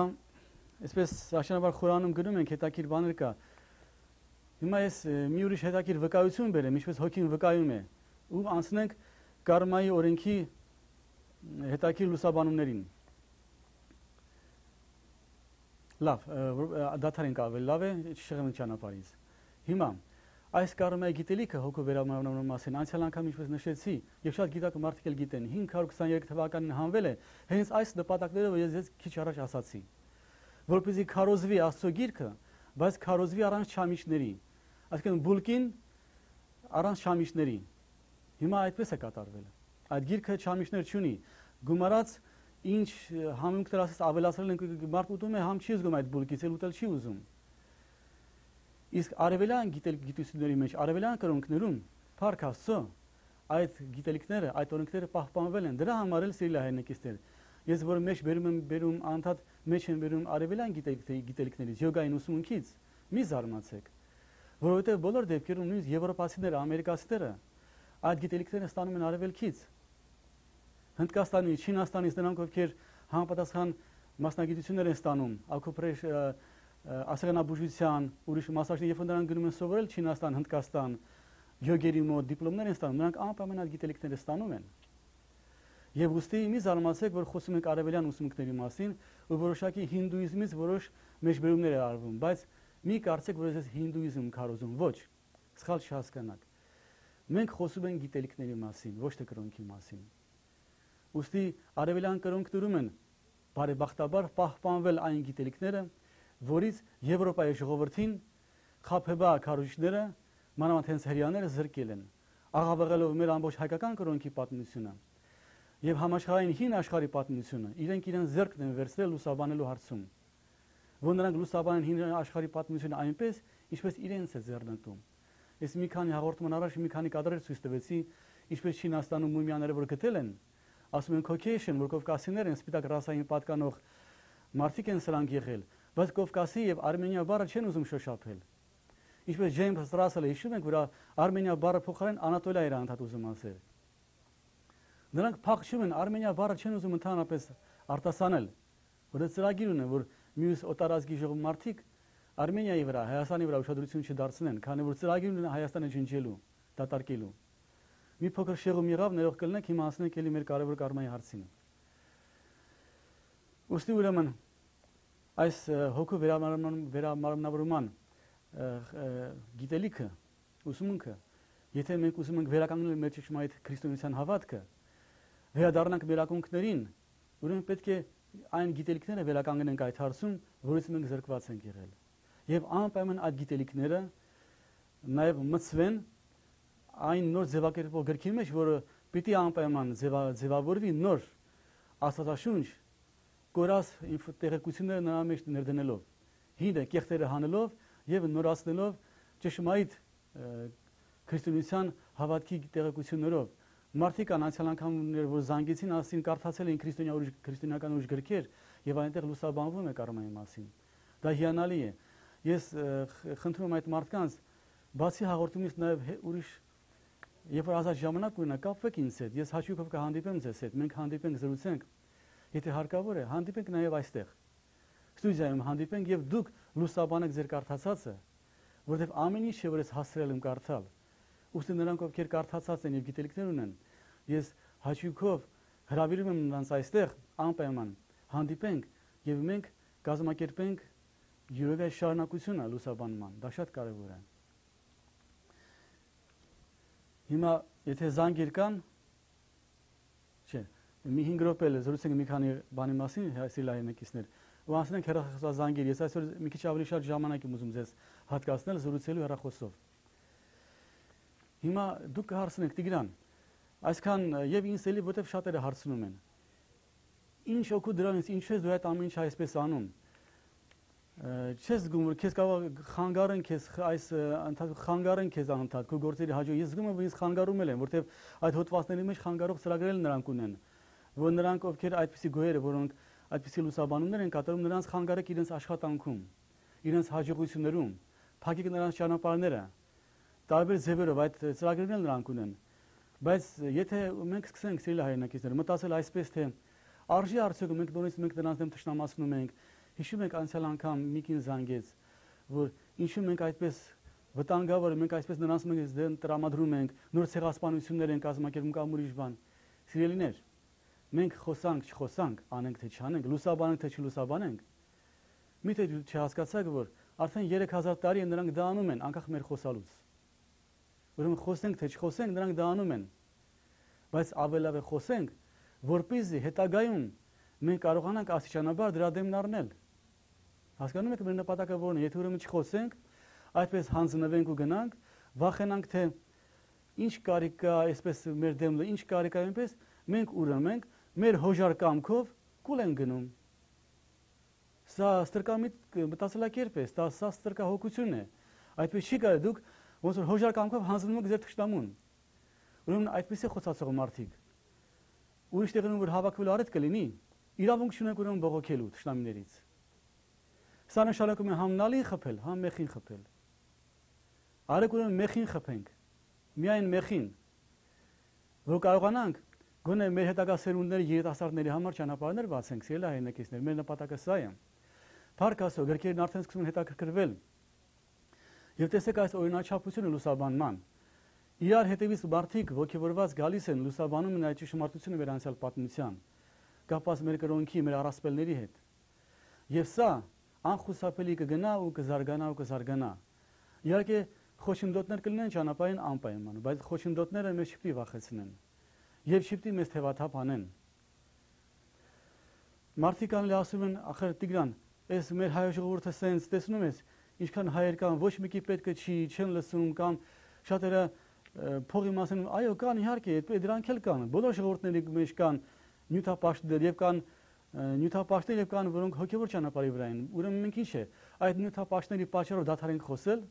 այսպես աշնանաբար Խորանում գրում ենք հետաքրքիր բաներ կա։ Հիմա ես մի ուրիշ հետաքրքիր վկայություն բերեմ, ինչպես հոգին վկայում է, ու անցնենք կարմայի օրենքի հետաքրքիր լուսաբանումներին։ Լավ, դադարենք ավելի լավ է, չշեղենք ճանապարհից։ Հիմա այս կարմայի գիտելիքը հոգու վերաբերման մասին անցյալ անգամ ինչպես նշեցի, եւ շատ գիտակ մարդիկ էլ գիտեն, 523 թվականին հանվել է հենց այս նպատակներով ես քիչ առաջ ասացի, որպեսզի քարոզվի Աստծո գիրքը, բայց քարոզվի առանց չամիչների, այսինքն բուլկին առանց չամիչների։ Հիմա այդպես է կատարվել։ Այդ գիրքը չամիչներ չունի, գումարած ինչ համունքներ ասես ավելացրել են, մարդ ուտում է, համ չի զգում այդ բուլկից, էլ ուտել չի ուզում։ Իսկ արևելյան գիտությունների մեջ, արևելյան կրոնքներում, փառք Աստծո, այդ գիտելիքները, այդ օրենքները պահպանվել են։ Դրա համար էլ սիրելի հայրենակիցներ, ես որ մեջ բերում անդադ մեջ են բերում արևելյան գիտելիքներից, յոգային ուսմունքից, մի զարմացեք, որովհետև բոլոր դեպքերում նույնիսկ եվրոպացիները, ամերիկացիները այդ գիտելիքները ստանում են արևելքից։ Հնդկաստանից, Չինաստանից նրանք ովքեր համապատասխան մասնագիտություններ են ստանում, ասեղնաբուժության, ուրիշ մասնագիտություններ, երբ նրանք գնում են սովորել Չինաստան, Հնդկաստան, յոգերի մոտ դիպլոմներ են ստանում, նրանք անպայման այդ գիտելիքները ստանում են։ Եվ ուստի մի զարմացեք, որ խոսում ենք արևելյան ուսմունքների մասին, ու որոշակի հինդուիզմից որոշ մեջբերումներ է արվում, բայց մի կարծեք, որ ես հինդուիզմ քարոզում, ոչ, սխալ չհասկանաք։ Մենք խոսում ենք գիտելիքների մասին, ոչ թե կրոնքի մասին։ Ուստի արևելյան կրոնքներում են բարեբախտաբար պահպանվել այն գիտելիքները, որից Եվրոպայի ժողովրդին խաբեբա քարոզիչները, մանավանդ հենց հրեաները զրկել են, աղավաղելով մեր ամբողջ հայկական կրոնքի պատմությունը եւ համաշխարհային հին աշխարհի պատմությունը, իրենք ձեռքն են վերցրել լուսաբանելու հարցում, որ նրանք լուսաբանեն հին աշխարհի պատմությունը այնպես, ինչպես իրենց է ձեռնտում։ Ես մի քանի հաղորդման առաջ մի քանի կադրեր ցույց տվեցի, ինչպես Չինաստանում մումիաները որ գտել են, ասում են Caucasian, որ կովկասիներ են, սպիտակ ռասային պատկանող մարդիկ են սրանք եղել, բայց Կովկասի եւ Արմենիա բառը չեն ուզում շոշափել։ Ինչպես Ջեյմս Ռասելը հիշում ենք, որ Արմենիա բառը փոխարեն Անատոլիա էր անդադ ուզում ասել։ Նրանք փախչում են, Արմենիա բառը չեն ուզում ընդհանրապես արտասանել, որ ծրագիր ունեն, որ մյուս օտարազգի ժողովուրդիկ Արմենիայի վրա, Հայաստանի վրա ուշադրություն չդարձնեն, քանի որ ծրագիր ունեն Հայաստանը ջնջելու, դատարկելու։ Մի փոքր շեղում եղավ, ներող կլինեք, հիմա ասենք էլի մեր կարևոր կարմայի հարցին։ Ուստի ուրեմն այս հոգու վերամարմնավորման գիտելիքը, ուսմունքը, եթե մենք ուզում ենք վերականգնել մեր ճշմարիտ քրիստոնեության հավատքը, վերադառնանք մեր ակունքներին, ուրեմն պետք է այն գիտելիքները վերականգնենք այդ հարցում, որից մենք զրկված ենք եղել։ Եվ անպայման այդ գիտելիքները նաև մտցվեն այն նոր ձևակերպող գրքի մեջ, որը պիտի անպայման ձևավորվի նոր աստվածաշունչ կորած տեղեկությունները նրա մեջ ներդնելով, հինը կեղտերը հանելով եւ նորացնելով ճշմարիտ քրիստոնեության հավատքի տեղեկություններով։ Մարդիկ անցյալ անգամներ, որ զանգեցին, ասին կարդացել են քրիստոնեական ուրիշ գրքեր եւ այնտեղ լուսաբանվում է կարմայի մասին։ Դա հիանալի է։ Ես խնդրում եմ այդ մարդկանց, բացի հաղորդումից նաեւ ուրիշ երբ որ ազատ ժամանակ ունենա, կապվեք ինձ հետ, ես հաճույքով կհանդիպեմ ձեզ հետ, մենք հանդիպենք, զրուցենք, եթե հարկավոր է, հանդիպենք նաև այստեղ, ստուդիայում հանդիպենք եւ դուք լուսաբանեք ձեր կարդացածը, որովհետեւ ամեն ինչ որ ես հասցրել եմ կարդալ, ուստի նրանք ովքեր կարդացած են եւ գիտելիքներ ունեն, ես հաճույքով հրավիրում եմ նրանց այստեղ անպայման հանդիպենք եւ մենք կազմակերպենք յուրովե շարունակությունը լուսաբանման, դա շատ կարևոր է։ Հիմա եթե զանգեր կան, չէ, մի 5 րոպե զրուցենք մի քանի բանի մասին, սիրելի հայրենակիցներ, ու անցնենք հեռախոսազանգեր։ Ես այսօր մի քիչ ավելի շատ ժամանակ եմ ուզում ձեզ հատկացնել զրուցելու հեռախոսով։ Հիմա դուք կհարցնեք Տիգրան, այսքան եւ ինձ էլի որտեվ շատերը հարցնում են։ Ինչ օգուտ դրանից, ինչու ես դու այդ ամեն ինչ այսպես անում։ Չես զգում, որ քեզ կարող խանգարեն քեզ այս խանգարեն քեզ անընդհատ քո գործերի հաջող։ Ես զգում եմ, որ ինձ խանգարում են, որտեվ այդ հոդվածների մեջ խանգարող ծրագրեր նրանք ունեն, որ նրանք ովքեր այդպիսի գոյերը, որոնք այդպիսի լուսաբանումներ են կատարում, նրանց խանգարեք իրենց աշխատանքում, իրենց հաջողություններում, փակեք նրանց ճանապարհները, տարբեր ձևերով այդ ծրագրերն էլ նրանք ունեն։ Բայց եթե մենք սկսենք սիրելի հայրենակիցներ մտածել այսպես թե արժի արդյոք մենք նրանց դեմ թշնամացնում ենք, հիշում եք անցյալ անգամ մի կին զանգեց, որ ինչու մենք այդպես վտանգավոր մենք այսպես նրանց դեմ տրամադրում ենք, նոր ցեղասպանություններ են կազմակերպում կամ ուրիշ բան։ Սիրելիներ, մենք խոսանք, չխոսանք, անենք թե չանենք, լուսաբանենք թե չլուսաբանենք։ Միթե չհասկացաք, որ արդեն 3000 տարի են նրանք դա անում են, անկախ մեր խոսալուց։ Ուրեմն խոսենք թե չխոսենք, նրանք դա անում են։ Բայց ավելավ է խոսենք, որպեսզի հետագայում մենք կարողանանք աստիճանաբար դրա դեմն առնել։ Հասկանում եք մեր նպատակը որն է, եթե ուրեմն չխոսենք, այդպես հանձնվենք ու գնանք, վախենանք թե ինչ կարիք կա, այսպես մեր դեմը, ինչ կարիք կա այնպես, մենք ուրեմն մեր հոժար կամքով կուլ են գնում։ Սա ստրկամիտ մտածելակերպ է, սա ստրկահոգություն է։ Այդպես չի կարելի, դուք ոնց որ հոժար կամքով հանձնում եք ձեր թշնամուն։ Ուրեմն այդպես է խոսացող մարդիկ։ Ուրիշ տեղում որ հավաքվելու առիթ կլինի, իրավունք չունենք ուրեմն բողոքելու թշնամիներից։ Սա նշանակում է համ նալին խփել, համ մեխին խփել։ Արեք ուրեմն մեխին խփենք, միայն մեխին, որ կարողանանք գոնե մեր հետագա սերունդների երիտասարդների համար ճանապարհներ բացենք, սիրելի հայրենակիցներ, մեր նպատակը սա է։ Փառք Աստծո, գրքերն արդեն սկսում են հետաքրքրվել։ Եվ տեսեք այս օրինաչափությունը լուսաբանման։ Իրար հետևից մարդիկ ոգևորված գալիս են լուսաբանում են այդ ճշմարտությունը մեր անցյալ պատմության, կապված մեր կրոնքի, մեր առասպելների հետ։ Եվ սա անխուսափելի կգնա ու կզարգանա ու կզարգանա։ Իհարկե խոչընդոտներ կլինեն ճանապարհին անպայման, բայց խոչընդոտները մեզ չպետք է վախեցնեն եւ չպետք է մեզ թևաթափ անեն։ Մարդիկ անլի ասում են, ախր Տիգրան, այս մեր հայ ժողովուրդը սենց տեսնում ես, ինչքան հայեր կան, ոչ մեկի պետքը չի, չեն լսում կամ շատերը փողի մասին, այո, կան իհարկե, դրանք էլ կան, բոլոր ժողովուրդների մեջ կան նյութապաշտներ եւ կան նյութապաշտներ եւ կան, որոնք հոգեվոր ճանապարհի վրա են։ Ուրեմն մենք ինչ է, այդ նյութապաշտների պատճառով դադարենք խոսել։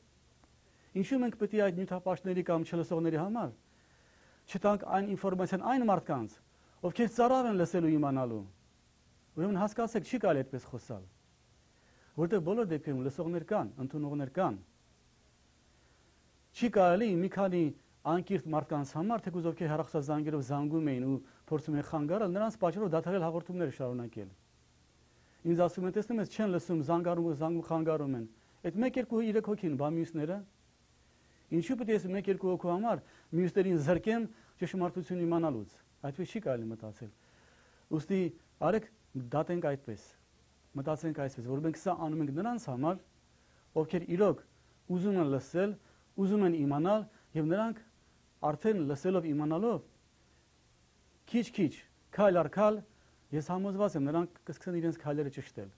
Ինչու մենք պետք է այդ նյութապաշտների կամ չլսողների համար չտանք այն ինֆորմացիան այն մարդկանց, ովքեր ծարավ են լսելու իմանալու։ Ուրեմն հասկացեք, չի կարելի այդպես խոսալ։ Որտեղ բոլոր դեպքերում լսողներ կան, ընդունողներ կան։ Չի կարելի մի քանի անկիրթ մարդկանց համար, թեկուզ ովքեր հեռախոսազանգերով զանգում էին ու փորձում են խանգարել, նրանց պատճառով դադարել հաղորդումները շարունակել։ Ինձ ասում են, տեսնում ես, չեն լսում, զանգում խանգարում են։ Այդ 1-2-3 հոգին, բա մյուսները։ Ինչու պետք է ես 1-2 հոգու համար մյուսներին զրկեմ ճշմարտություն իմանալուց։ Այդպես չի կարելի մտածել։ Ուստի արեք դատենք այդպես։ Մտածենք այսպես, որ մենք սա անում ենք նրանց համար, ովքեր իրոք ուզում են լսել, ուզում են իմանալ եւ նրանք արդեն լսելով իմանալով քիչ-քիչ, քայլ առ քայլ ես համոզված եմ նրանք կսկսեն իրենց քայլերը ճշտել։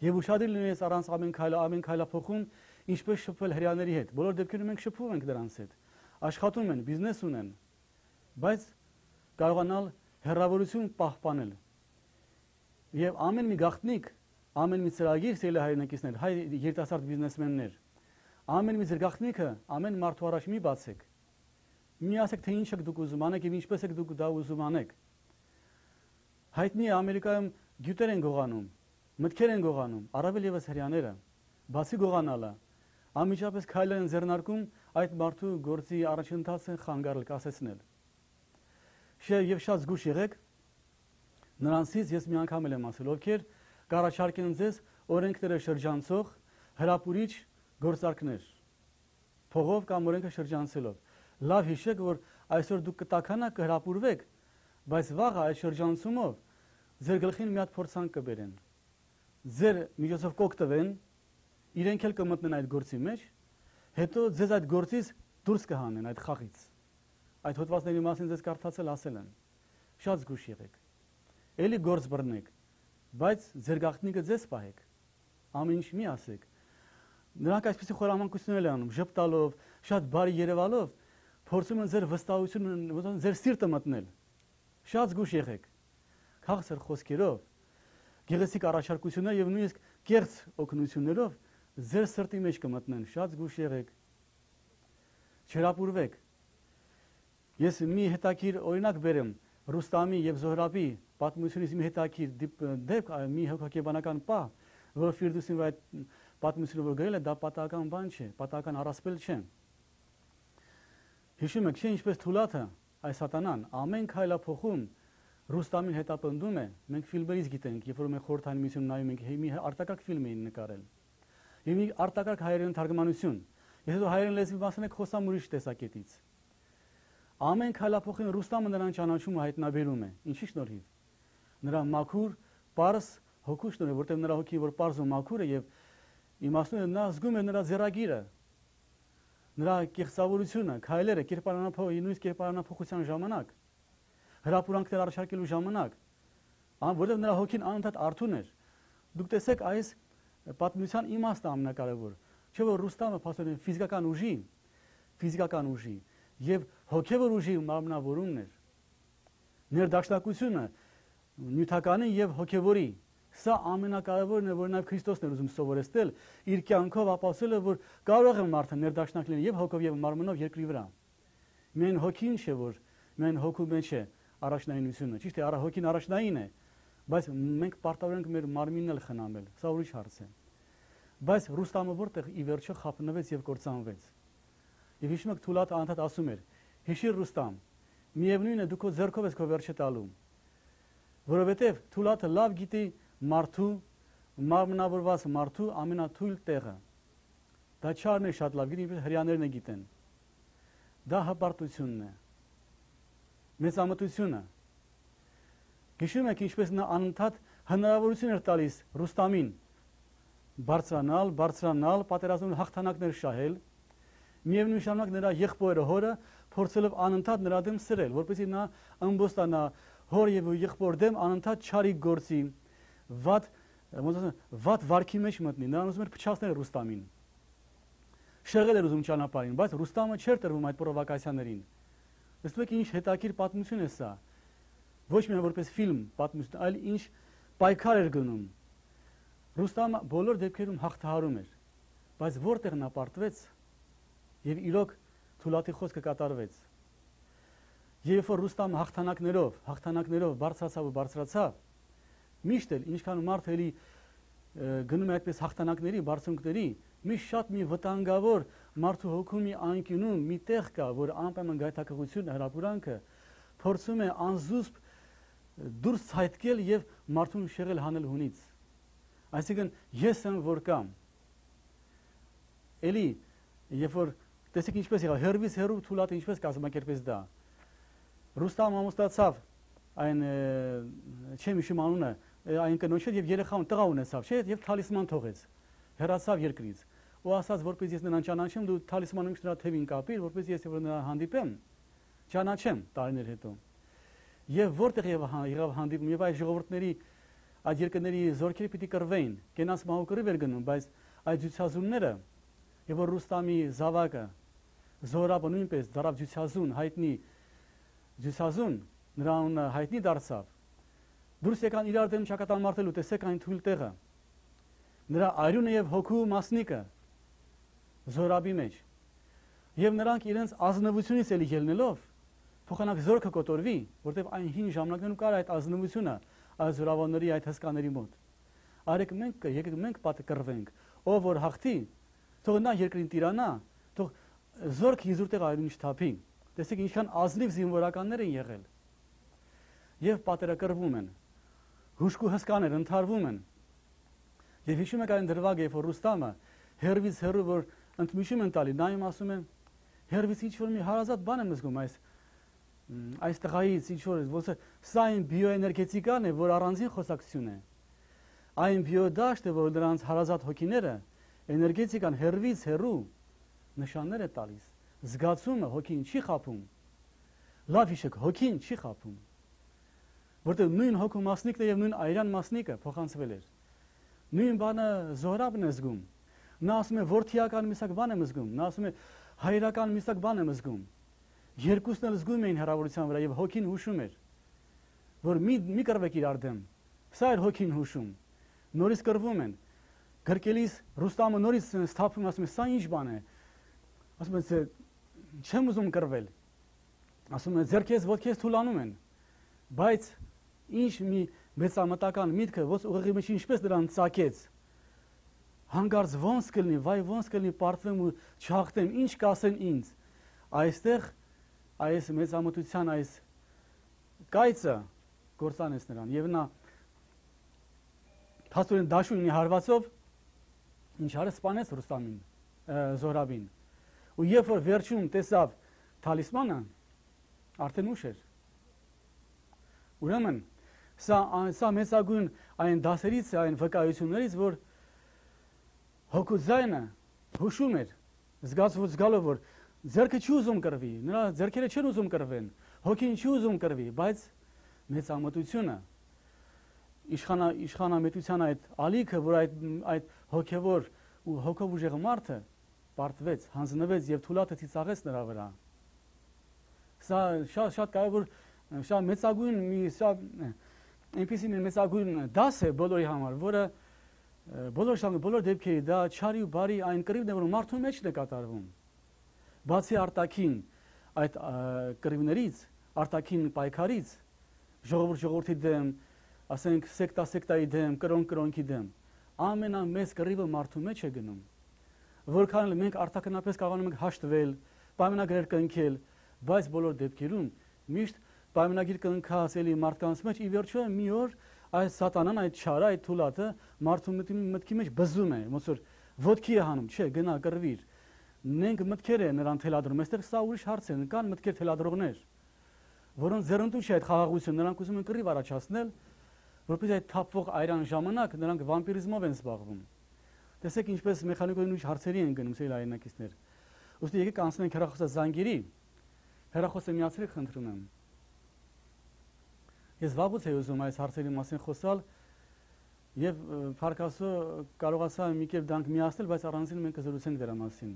Եվ ուշադիր լինես առանց ամեն քայլափոխում, ինչպես շփվել հрьяաների հետ։ Բոլոր դեպքերում մենք շփվում ենք նրանց հետ։ Աշխատում են, բիզնես ունեն, բայց կարողանալ հեռավորություն պահպանել։ Եվ ամեն մի գաղտնիք, ամեն մի ծրագիր, սիրելի հայրենակիցներ, հայ երիտասարդ բիզնեսմեններ, ամեն մի ձեր գաղտնիքը, ամեն մարդու առաջ մի բացեք։ Մի ասեք, թե ինչ եք դուք ուզում անեք եւ ինչպես եք դուք դա ուզում անեք։ Հայտնի է Ամերիկայում գյուտեր են գողանում, մտքեր են գողանում, առավել եւս հрьяաները, բացի գողանալը, անմիջապես քայլեր են ձեռնարկում այդ մարդու գործի առաջընթացը խանգարել, կասեցնել։ Եվ շատ զգուշ եղեք նրանցից ես մի անգամ եմ ասել, ովքեր կառաջարկեն ձեզ օրենքները շրջանցող հրապուրիչ գործարքներ, փողով կամ օրենքը շրջանցելով։ Լավ հիշեք, որ այսօր դուք կտականաք, կհրապուրվեք, բայց վաղը այդ շրջանցումով ձեր գլխին մի հատ փորձանք կբերեն։ Ձեր միջոցով կօգտվեն, իրենք էլ կմտնեն այդ գործի մեջ, հետո ձեզ այդ գործից դուրս կհանեն այդ խաղից։ Այդ հոդվածների մասին ձեզ կարդացել ասել են։ Շատ զգուշ եղեք։ Էլի գործ բռնեք, բայց ձեր գաղտնիքը ձեզ պահեք։ Ամեն ինչ մի ասեք։ Նրանք այսպեսի խորամանկություններ են անում, ժպտալով, շատ բարի երևալով, փորձում են ձեր վստահությունը, ձեր սիրտը մտնել։ Շատ զգուշ եղեք։ Քաղցր խոսքերով, գեղեցիկ առաջարկություններ եւ նույնիսկ կեղծ օգնություններով ձեր սրտի մեջ կմտնեն։ Շատ զգուշ եղեք։ Չհրապուրվեք։ Ես մի հետաքրքիր օրինակ բերեմ Ռուստամի եւ Զոհրաբի պատմությունից մի հետաքրքիր դեպք, մի հոգեբանական պահ, որ Ֆիրդուսին այդ պատմությունը որ գրել է, դա պատահական բան չէ, պատահական առասպել չէ։ Հիշում եք, չէ՞ ինչպես Թուլաթը, այս սատանան ամեն քայլափոխում Ռուստամին հետապնդում է, մենք ֆիլմերից գիտենք, երբ որ մենք խորհրդային միություն նայում ենք, մի արտակարգ ֆիլմ էին նկարել։ Եվ մի արտակարգ հայերեն թարգմանություն։ Եթե դու հայերեն լեզվի մասն եք խոսամ ուրիշ տեսակետից։ Ամեն քայլափոխին Ռուստամը նրան ճանաչում ու հայտնաբերում է։ Ինչի շնորհիվ։ Նրա մաքուր, պարզ հոգու շնորհիվ, որտեղ նրա հոգի որ պարզ ու մաքուր է եւ իմաստուն է, նա զգում է նրա ձեռագիրը, նրա կեղծավորությունը, քայլերը, նույնիսկ կերպարանափոխության ժամանակ, հրապուրանքներ առաջարկելու ժամանակ, որտեղ նրա հոգին անընդհատ արթուն էր։ Դուք տեսեք այս պատմության իմաստը ամենակարևոր, չէ՞ որ Ռուստամը փաստորեն ֆիզիկական ուժի եւ հոգեվոր ուժի մարմնավորումն էր։ Ներդաշնակությունը նյութականի եւ հոգեվորի, սա ամենակարևորն է, որ նաեւ Քրիստոսն էր ուզում սովորեցնել, իր կյանքով ապացուցել է, որ կարող է մարդը ներդաշնակ լինել եւ հոգով եւ մարմնով երկրի վրա։ Միայն հոգին չէ, որ միայն հոգու մեջ է առաջնայինությունը, ճիշտ է, հոգին առաջնային է, բայց մենք պարտավոր ենք մեր մարմինն էլ խնամել, սա ուրիշ հարց է։ Բայց Ռուստամը որտեղ ի վերջո խափնվեց եւ կործանվեց։ Եվ հիշում եք Թուլաթը անդադ ասում էր. Հիշիր Ռուստամ, միևնույն է դու քո ձեռքով ես քո վերջը տալու։ Որովհետեւ Թուլաթը լավ գիտի մարդու, մարմնավորված մարդու ամենաթույլ տեղը։ Դա չարն է շատ լավ գիտի, ինչպես հрьяաներն է գիտեն։ Դա հպարտությունն է։ Մեծամտությունը։ Հիշում եք ինչպես նա անընդհատ հնարավորություն էր տալիս Ռուստամին բարձրանալ, պատերազմում հաղթանակներ շահել։ Միևնույն ժամանակ նրա եղբորը հորը փորձելով անընդհատ նրա դեմ սրել, որպեսզի նա ըմբոստանա հոր եւ եղբոր դեմ անընդհատ չարի գործի, վատ վարքի մեջ մտնի։ Նրան ուզում էր փչացնել Ռուստամին։ Շեղել էր ուզում ճանապարհին, բայց Ռուստամը չէր տրվում այդ պրովոկացիաներին։ Տեսնում եք ինչ հետաքրքիր պատմություն է սա։ Ոչ միայն որպես ֆիլմ պատմություն, այլ ինչ պայքար էր գնում։ Ռուստամը բոլոր դեպքերում հաղթահարում էր, բայց որտեղ նա պարտվեց եւ իրոք Թուլաթի խոսքը կատարվեց։ Երբ որ Ռուստամը հաղթանակներով բարձրացավ, միշտ էլ ինչքան մարդ էլի գնում է այդպես հաղթանակների, բարձունքների, միշտ շատ մի վտանգավոր մարդու հոգու մի անկյունում մի տեղ կա, որ անպայման գայթակղությունը, հրապուրանքը փորձում է անզուսպ դուրս ցայտկել եւ մարդուն շեղել հանել հունից։ Այսինքն ես եմ որ կամ։ Էլի երբ որ տեսեք ինչպես եղավ, հերվից հերու Թուլաթը ինչպես կազմակերպեց դա։ Ռուստամը ամուսնացավ այն չեմ հիշում անունը, այն կնոջ հետ եւ երեխան տղա ունեցավ, չէ՞, եւ թալիսման թողեց։ Հեռացավ երկրից։ Ու ասաց, որպես ես նրան ճանաչեմ, դու թալիսմանը նրա թևին կապիր, որպես ես նրան հանդիպեմ, ճանաչեմ տարիներ հետո։ Եվ որտեղ եղավ հանդիպում, եւ այդ ժողովուրդների, այդ երկրների զորքերը պիտի կռվեին, կենաց մահու կռիվ էր գնում, բայց այդ ջուցազունները, եւ որ Ռուստամի զավակը Զորաբը նույնպես դարավ ջուցազուն, հայտնի ջուցազուն, նրան հայտնի դարձավ։ Դուրս եկան իրար դեմ ճակատամարտելու, տեսեք այն թույլ տեղը։ Նրա արյունը եւ հոգու մասնիկը Զորաբի մեջ։ Եվ նրանք իրենց ազնվությունից էլի ելնելով փոխանակ զորքը կոտորվի, որտեղ այն հին ժամանակներում կար այդ ազնվությունը այս զորավարների, այդ հսկաների մոտ։ Եկեք մենք պատը կռվենք, ով որ հաղթի, թող նա երկրին տիրանա, թող զորք իզուրտեղ այրուն չթափի։ Տեսեք ինչքան ազնիվ զինվորականներ են եղել։ Եվ պատերակրվում են։ Հուշկու հսկաներ ընթարվում են։ Եվ հիշում եք այն դրվագը, երբ որ Ռուստամը հերվից հերու որ ընդմիջում են տալի, նայում ասում են հերվից ինչ որ մի հարազատ բան եմ զգում այս այս տղայից ինչ որ ոնց սա այն բիոէներգետիկան է, որ առանձին խոսակցություն է։ Այն բիոդաշտը, որ դրանց հարազատ հոգիները էներգետիկան հերվից հերու նշաններ է տալիս։ Զգացումը հոգին չի խափում։ Լավ հիշեք, հոգին չի խափում։ Որտեղ նույն հոգու մասնիկն է եւ նույն այրան մասնիկը փոխանցվել էր։ Նույն բանը Զոհրաբն է զգում։ Նա ասում է որդիական միսակ բան եմ զգում, նա ասում է հայրական միսակ բան եմ զգում։ Երկուսն էլ զգում էին հրավորության վրա եւ հոգին հուշում էր, որ մի կռվեք իրար դեմ։ Սա էր հոգին հուշում։ Նորից կռվում են։ Գրկելիս Ռուստամը նորից սթափում ասում է սա ինչ բան է։ Ասում է չեմ ուզում կռվել։ Ասում է ձեռքես ոտքես թուլանում են։ Բայց ինչ մի մեծամտական միտքը ոնց ուղեղի մեջ ինչպես դրան ծակեց։ Հանկարծ ոնց կլինի, վայ ոնց կլինի պարտվեմ ու չհաղթեմ, ինչ կասեն ինձ։ Այստեղ այս մեծամտության այս կայծը գործանեց նրան եւ նա փաստորեն դաշույնի հարվածով ինչ արեց սպանեց Ռուստամին, Զոհրաբին։ Ու երբ որ վերջում տեսավ թալիսմանը, արդեն ուշ էր։ Ուրեմն սա մեծագույն այն դասերից է, այն վկայություններից, որ հոգու ձայնը հուշում էր, զգալով, որ ձեռքը չի ուզում կռվի, նրա ձեռքերը չեն ուզում կռվեն, հոգին չի ուզում կռվի, բայց մեծամտությունը, իշխանամետության այդ ալիքը, որ այդ հոգևոր ու հոգով ուժեղ մարդը պարտվեց, հանձնվեց եւ թուլատը ծիծաղեց նրա վրա։ Սա շատ կարևոր, շատ մեծագույն այնպիսի մեծագույն դաս է բոլորի համար, որը բոլոր դեպքերի դա չարի ու բարի այն կռիվն է, որ մարդու մեջն է կատարվում։ Բացի արտաքին այդ կռիվներից, արտաքին պայքարից, ժողովրդի դեմ, ասենք սեկտայի դեմ, կրոնքի դեմ, ամենամեծ կռիվը մարդու մեջ է գնում։ Որքան էլ մենք արտաքնապես կարողանում ենք հաշտվել, պայմանագրեր կնքել, բայց բոլոր դեպքերում միշտ պայմանագիր կնքած էլի մարդկանց մեջ ի վերջո մի օր այս սատանան, այդ չարը, այդ թուլատը մարդու մտքի մեջ բզում է, ոնց որ ոտքի է հանում, չէ, գնա կռվիր։ Մենք մտքեր է նրան թելադրում, այստեղ սա ուրիշ հարց է, կան մտքեր թելադրողներ, որոնց ձեռնտու չէ այդ խաղաղությունը, նրանք ուզում են կռիվ առաջացնել, որպես այդ թափվող այրան ժամանակ նրանք վամպիրիզմով են զբաղվում։ Տեսեք ինչպես մեխանիկոյն ուրիշ հարցերի են գնում սիրելի հայրենակիցներ։ Ուստի եկեք անցնենք հեռախոսազանգերի, հեռախոսը միացրեք խնդրում եմ։ Ես վաղուց էի ուզում այս հարցերի մասին խոսալ եւ փառքասո կարողացա մի կերպ դրանք միացնել, բայց առանձին մենք կզրուցենք դրա մասին։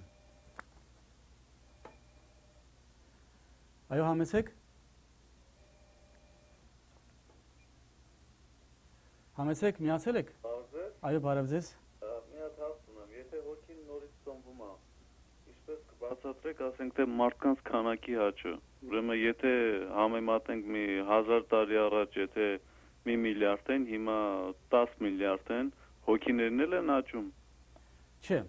Այո, համեցեք։ Համեցեք, միացել եք։ Այո, բարև ձեզ։ Մի հատ հարց ունեմ, եթե հոգին նորից ծնվում է, ինչպես կբացատրեք, ասենք թե մարդկանց քանակի աճը։ Ուրեմն եթե համեմատենք մի 1000 տարի առաջ, եթե 1 միլիարդ են, հիմա 10 միլիարդ են, հոգիներն էլ են աճում։ Չէ,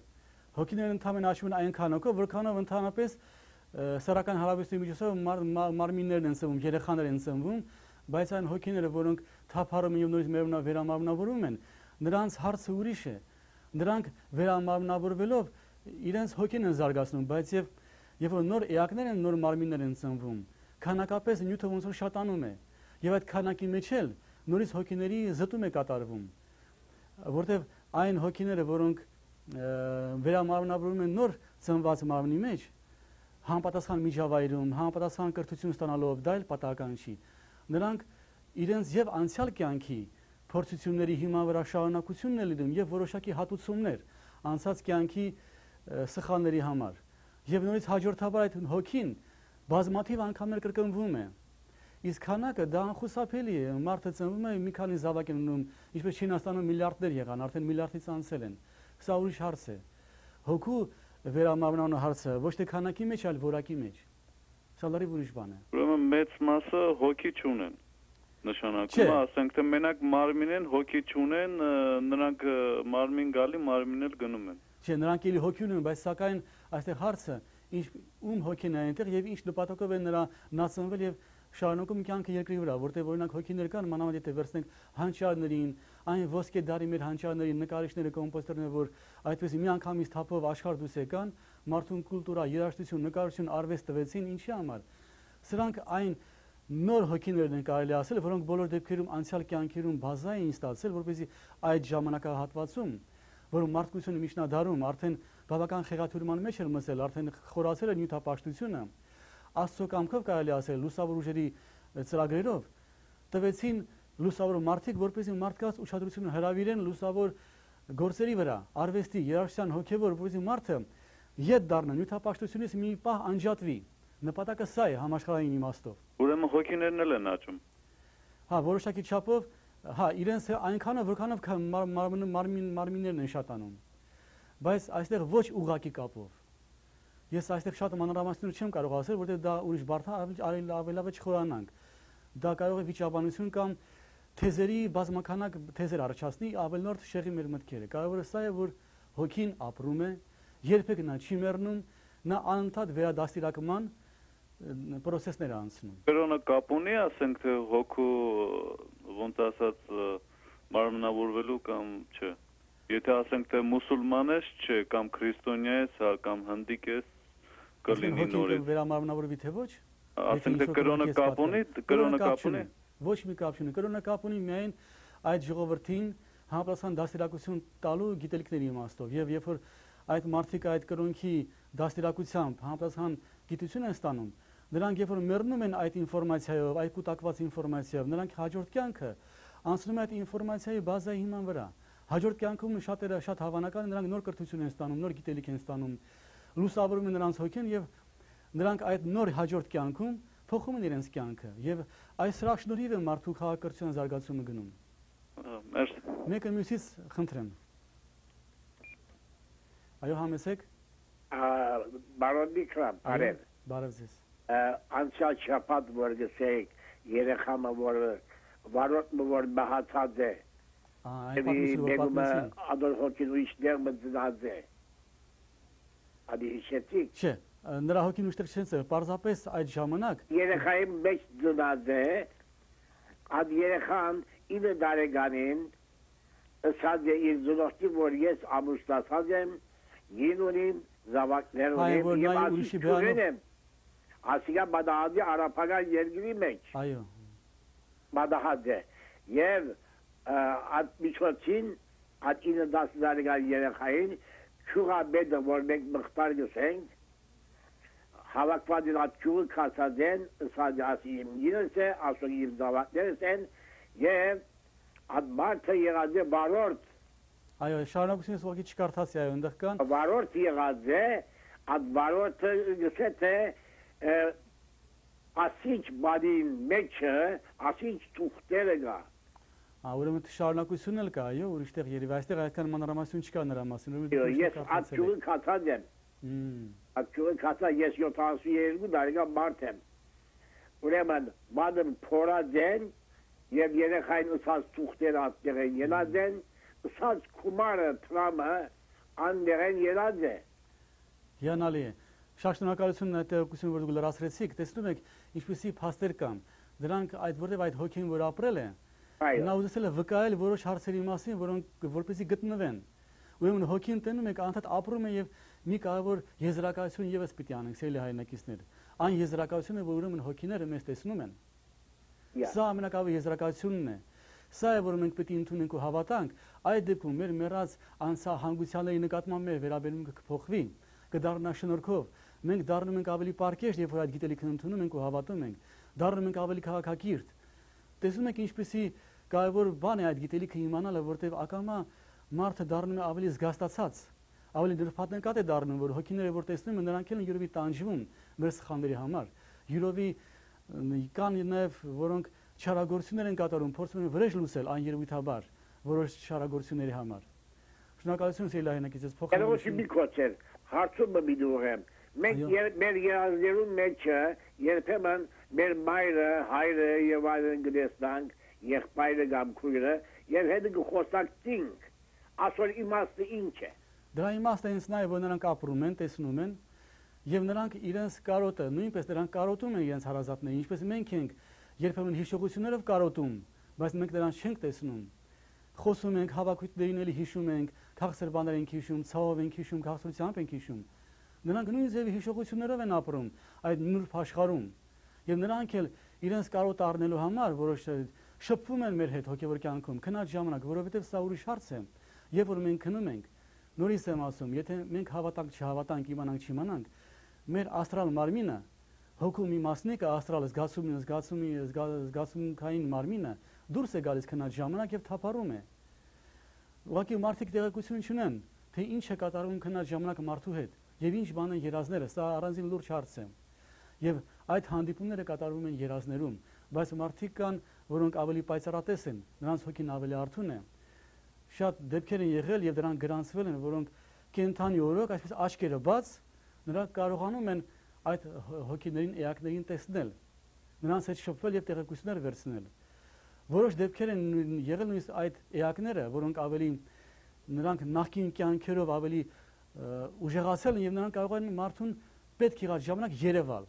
հոգիներն ընդհանրապես աճում են այնքանով, որքանով ընդհանրապես սեռական հարաբերությունների միջոցով մարմիններն են ծնվում, երեխաներ են ծնվում, բայց այն հոգիները, որոնք թափառում են եւ նորից վերամարմնավորվում են, նրանց հարցը ուրիշ է։ Նրանք վերամարմնավորվելով իրենց հոգին են զարգացնում, բայց երբ որ նոր էակներ են, նոր մարմիններ են ծնվում, քանակապես նյութը ոնց որ շատանում է, եւ այդ քանակի մեջ էլ նորից հոգիների զտում է կատարվում, որտեղ այն հոգիները, որոնք վերամարմնավորվում են նոր ծնված մարմնի մեջ, համապատասխան միջավայրում, համապատասխան կրթություն ստանալով, դա էլ պատահական չի։ Նրանք իրենց եւ անցյալ կյանքի փորձությունների հիման վրա շարունակությունն է լինում եւ որոշակի հատուցումներ անցած կյանքի սխալների համար։ Եվ նորից հաջորդաբար այդ հոգին բազմաթիվ անգամներ կրկնվում է։ Իսկ քանակը դա անխուսափելի է, մարդը ծնվում է մի քանի զավակ են ունում, ինչպես Չինաստանում միլիարդներ եղան, արդեն միլիարդից անցել են։ Սա ուրիշ հարց է։ Հոգու վերամարմնանալու հարցը ոչ թե քանակի մեջ, այլ որակի մեջ։ Սա լրիվ ուրիշ բան է։ Ուրեմն մեծ մասը հոգի չունեն։ Նշանակում է, ասենք թե մենակ մարմին են, հոգի չունեն, նրանք մարմին գալի, մարմին էլ գնում են։ Չէ, նրանք էլի հոգի ունեն, բայց սակայն այստեղ հարցը ում հոգին է այնտեղ եւ ինչ նպատակով է նա ծնվել եւ շարունակում կյանքը երկրի վրա, որտեղ օրինակ հոգիներ կան, մանավանդ եթե վերցնենք հանճարներին, այն ոսկե դարի մեր հանճարներին, նկարիչները, կոմպոզիտորները, որ այդպես մի անգամից թափով աշխարհ դուրս եկան, մարդուն կուլտուրա, երաժշտություն, նկարչություն, արվեստ տվեցին, ինչի համար։ Սրանք այն նոր հոգիներն են կարելի ասել, որոնք բոլոր դեպքերում անցյալ կյանքերում բազային ստացել, որպեսզի այդ ժամանակահատվածում, որում մարդկությունը միջնադարում արդեն բավական խեղաթյուրման մեջ էր մսել, արդեն խորացել էր նյութապաշտությունը, Աստծո կամքով կարելի ասել լուսավոր ուժերի ծրագրերով տվեցին լուսավոր մարդիկ, որպեսզի մարդկանց ուշադրությունը հրավիրեն լուսավոր գործերի վրա, արվեստի, երաժշտության, հոգևոր, որպեսզի մարդը ետ դառնա նյութապաշտությունից մի պահ անջատվի։ Նպատակը սա է համաշխարհային իմաստով։ Ուրեմն հոգիներն էլ են աճում։ Հա, որոշակի չափով, հա, իրենց այնքանով, որքանով մարմիններն են շատանում։ Բայց այստեղ ոչ ուղղակի կապով։ Ես այստեղ շատ մանրամասնություն չեմ կարող ասել, որտեղ դա ուրիշ բարդ է, ավելավեճ չխորանանք։ Դա կարող է վիճաբանություն կամ թեզերի բազմականակ թեզեր առաջացնի, ավելնորդ շեղի մեր մտքերը։ Կարևորը սա է, որ հոգին ապրում է, երբեք նա չի մեռնում, նա անընդհատ վերադաստիարակման պրոցեսներ է անցնում։ Կրոնը կապ ունի, ասենք թե հոգու ոնց ասած մարմնավորվելու կամ չէ։ Եթե ասենք թե մուսուլման ես, չէ, կամ քրիստոնյա ես, կամ հնդիկ ես, կլինի նորից։ Վերամարմնավորվի թե ոչ։ Ասենք թե կրոնը կապ ունի, կրոնը կապ ունի։ Ոչ մի կապ չունի։ Կրոնը կապ ունի միայն այդ ժողովրդին համապատասխան դաստիարակություն տալու գիտելիքների իմաստով։ Եվ երբ որ այդ մարդիկ այդ կրոնքի դաստիարակությամբ համապատասխան գիտություն են ստանում, նրանք երբ որ մեռնում են այդ ինֆորմացիայով, այդ կուտակված ինֆորմացիայով, նրանք հաջորդ կյանքը անցնում է այդ ինֆորմացիայի բազայի հիման վրա։ Հաջորդ կյանքում շատերը շատ հավանական են, նրանք նոր կրթություն են ստանում, նոր գիտելիք են ստանում, լուսավորում են նրանց հոգին եւ նրանք այդ նոր հաջորդ կյանքում փոխում են իրենց կյանքը եւ այս սրա շնորհիվ է մարդու քաղաքակրթության զարգացումը գնում։ Մերսի։ Մեկը մյուսից խնդրեմ։ Այո, համեցեք։ Բարոն Նիկրան, բարև։ Բարև ձեզ։ Անցյալ շաբաթ որ գսեք երեխամը որ վարորդը որ մահացած է։ Ադոր հոգին ուրիշներ մտած է։ Ադի հիշեցիք։ Չէ, նրա հոգին ուշտեղ չեն, պարզապես այդ ժամանակ երեխայի մեջ դնած է, այդ երեխան 9 տարեկանին ասած է իր զուգորդի, որ ես ամուսնացած եմ, ին ունիմ, զավակներ ունիմ, եւ ասիքուրեն եմ, ասիկա բադահադի արապական երկրի մեջ, այո, բադահադ է, եւ այդ միջոցին, այդ 9-10 տարեկան երեխային, չուղաբեդը, որ մենք մղտար գսենք, հավաքված այդ ճյուղը կացած են, ասած ասի իմ գինս է, ասող իմ զավակներս են, և այդ մարդը եղած է վարորդ։ Այո, շարունակությունից ուղղակի չկարդացի, այո, ընդեղ կան։ Վարորդ եղած է, այդ վարորդը գսեց է, ասիչ բադին մեջը, ասիչ թուղթերը գա։ Ուրեմն շարունակություն էլ կա, այո, ուրիշտեղ երևի, այստեղ այդքան մանրամասնություն չկա նրա մասին։ Ես այդ ճյուղը կացած եմ։ Ակյուրը կացա ես 72 տարեկան մարդ եմ։ Ուրեմն մադն փորած են և երեխային ըսած թուղթերը ատեղ են ելած են, ըսած կումարը տրամը անդեղ են ելած է։ Հիանալի է։ Շատ շնորհակալություն այդ տեղեկությունը, որ դուք լրացրեցիք, տեսնում եք ինչպիսի փաստեր կան։ Դրանք որտեղ այդ հոգին որ ապրել է, նա ուզեցել է վկայել որոշ հարցերի մասին, որոնք որպեսզի գտնվեն։ Ուրեմն հոգին տենում եք անընդհատ ապրում է եւ մի կարևոր եզրակացություն եւս պիտի անենք, սիրելի հայրենակիցներ։ Այն եզրակացությունը, որ ուրեմն հոգիները մեզ տեսնում են։ Սա ամենակարևոր եզրակացությունն է։ Սա է, որ մենք պետք է ընդունենք ու հավատանք, այդ դեպքում մեր մեռած անցահանգուցյալների նկատմամբ մեր վերաբերմունքը կփոխվի, կդառնա շնորհքով։ Մենք դառնում ենք ավելի պարկեշտ, երբ որ այդ գիտելիքն ընդունում ենք ու հավատում ենք, դառնում ենք ավելի քաղաքակիրթ։ Տեսնում եք ինչպեսի կարևոր բան է այդ գիտելիքը իմանալը, որտեղ ակամա մարդը դառնում է ավելի զգաստացած, ավելի դրփատնկատ է դառնում, որ հոգիները որ տեսնում են, նրանք էլ յուրովի տանջվում մեր սխալների համար։ Յուրովի կան նաև որոնք չարագործություններ են կատարում, փորձում են վրեժ լուծել աներևույթաբար որոշ չարագործությունների համար։ Շնորհակալություն սիրելի հայրենակիցս փոխանցում։ Մի կոչեր, հարցումը մի դուղեմ։ Մենք մեր երազներուն մեջը երբեմն մեր մայրը, հայրը եւ այլն գտեսնանք, եղբայրը կամ քույրը, եւ հետո խոսակցինք, ասոր իմաստը ինչ է։ Դրա իմաստը հենց նա է, որ նրանք ապրում են, տեսնում են, եւ նրանք իրենց կարոտը, նույնպես նրանք կարոտում են իրենց հարազատներին, ինչպես մենք ենք երբեմն հիշողություններով կարոտում, բայց մենք նրանց չենք տեսնում։ Խոսում ենք, հավաքույթներին էլի հիշում ենք, քաղցր բաներ ենք հիշում, ցավով ենք հիշում, քաղցրությամբ ենք հիշում։ Նրանք նույն ձևի հիշողություններով են ապրում այդ նուրբ աշխարհում։ Եվ նրանք էլ իրենց կարոտ առնելու համար որոշ շփվում են մեր հետ հոգևոր կյանքում, քնած ժամանակ, որովհետև սա ուրիշ հարց է։ Երբ որ մենք քնում ենք, նորից եմ ասում, եթե մենք հավատանք, չհավատանք, իմանանք, չիմանանք, մեր աստրալ մարմինը, հոգու մի մասնիկը, աստրալը զգացումքային մարմինը դուրս է գալիս քնած ժամանակ եւ թափառում է։ Ուղղակի մարդիկ տեղեկություն չունեն, թե ինչ է կատարվում քնած ժամանակ մարդու հետ եւ ինչ բան են երազները, սա առանձին լուրջ հարց է։ Եվ այդ հանդիպումները կատարվում են երազներում, բայց մարդիկ կան, որոնք ավելի պայծառատես են, նրանց հոգին ավելի արթուն է։ Շատ դեպքեր են եղել եւ դրանք գրանցվել են, որոնք կենթանի օրոք, այսպես աչքերը բաց, նրանք կարողանում են այդ հոգիներին, էակներին տեսնել, նրանց հետ շփվել եւ տեղեկություններ վերցնել։ Որոշ դեպքեր են եղել նույնիսկ այդ էակները, որոնք ավելի նրանք նախկին կյանքերով ավելի ուժեղացել են եւ նրանք կարող են մարդուն պետք եղած ժամանակ երևալ։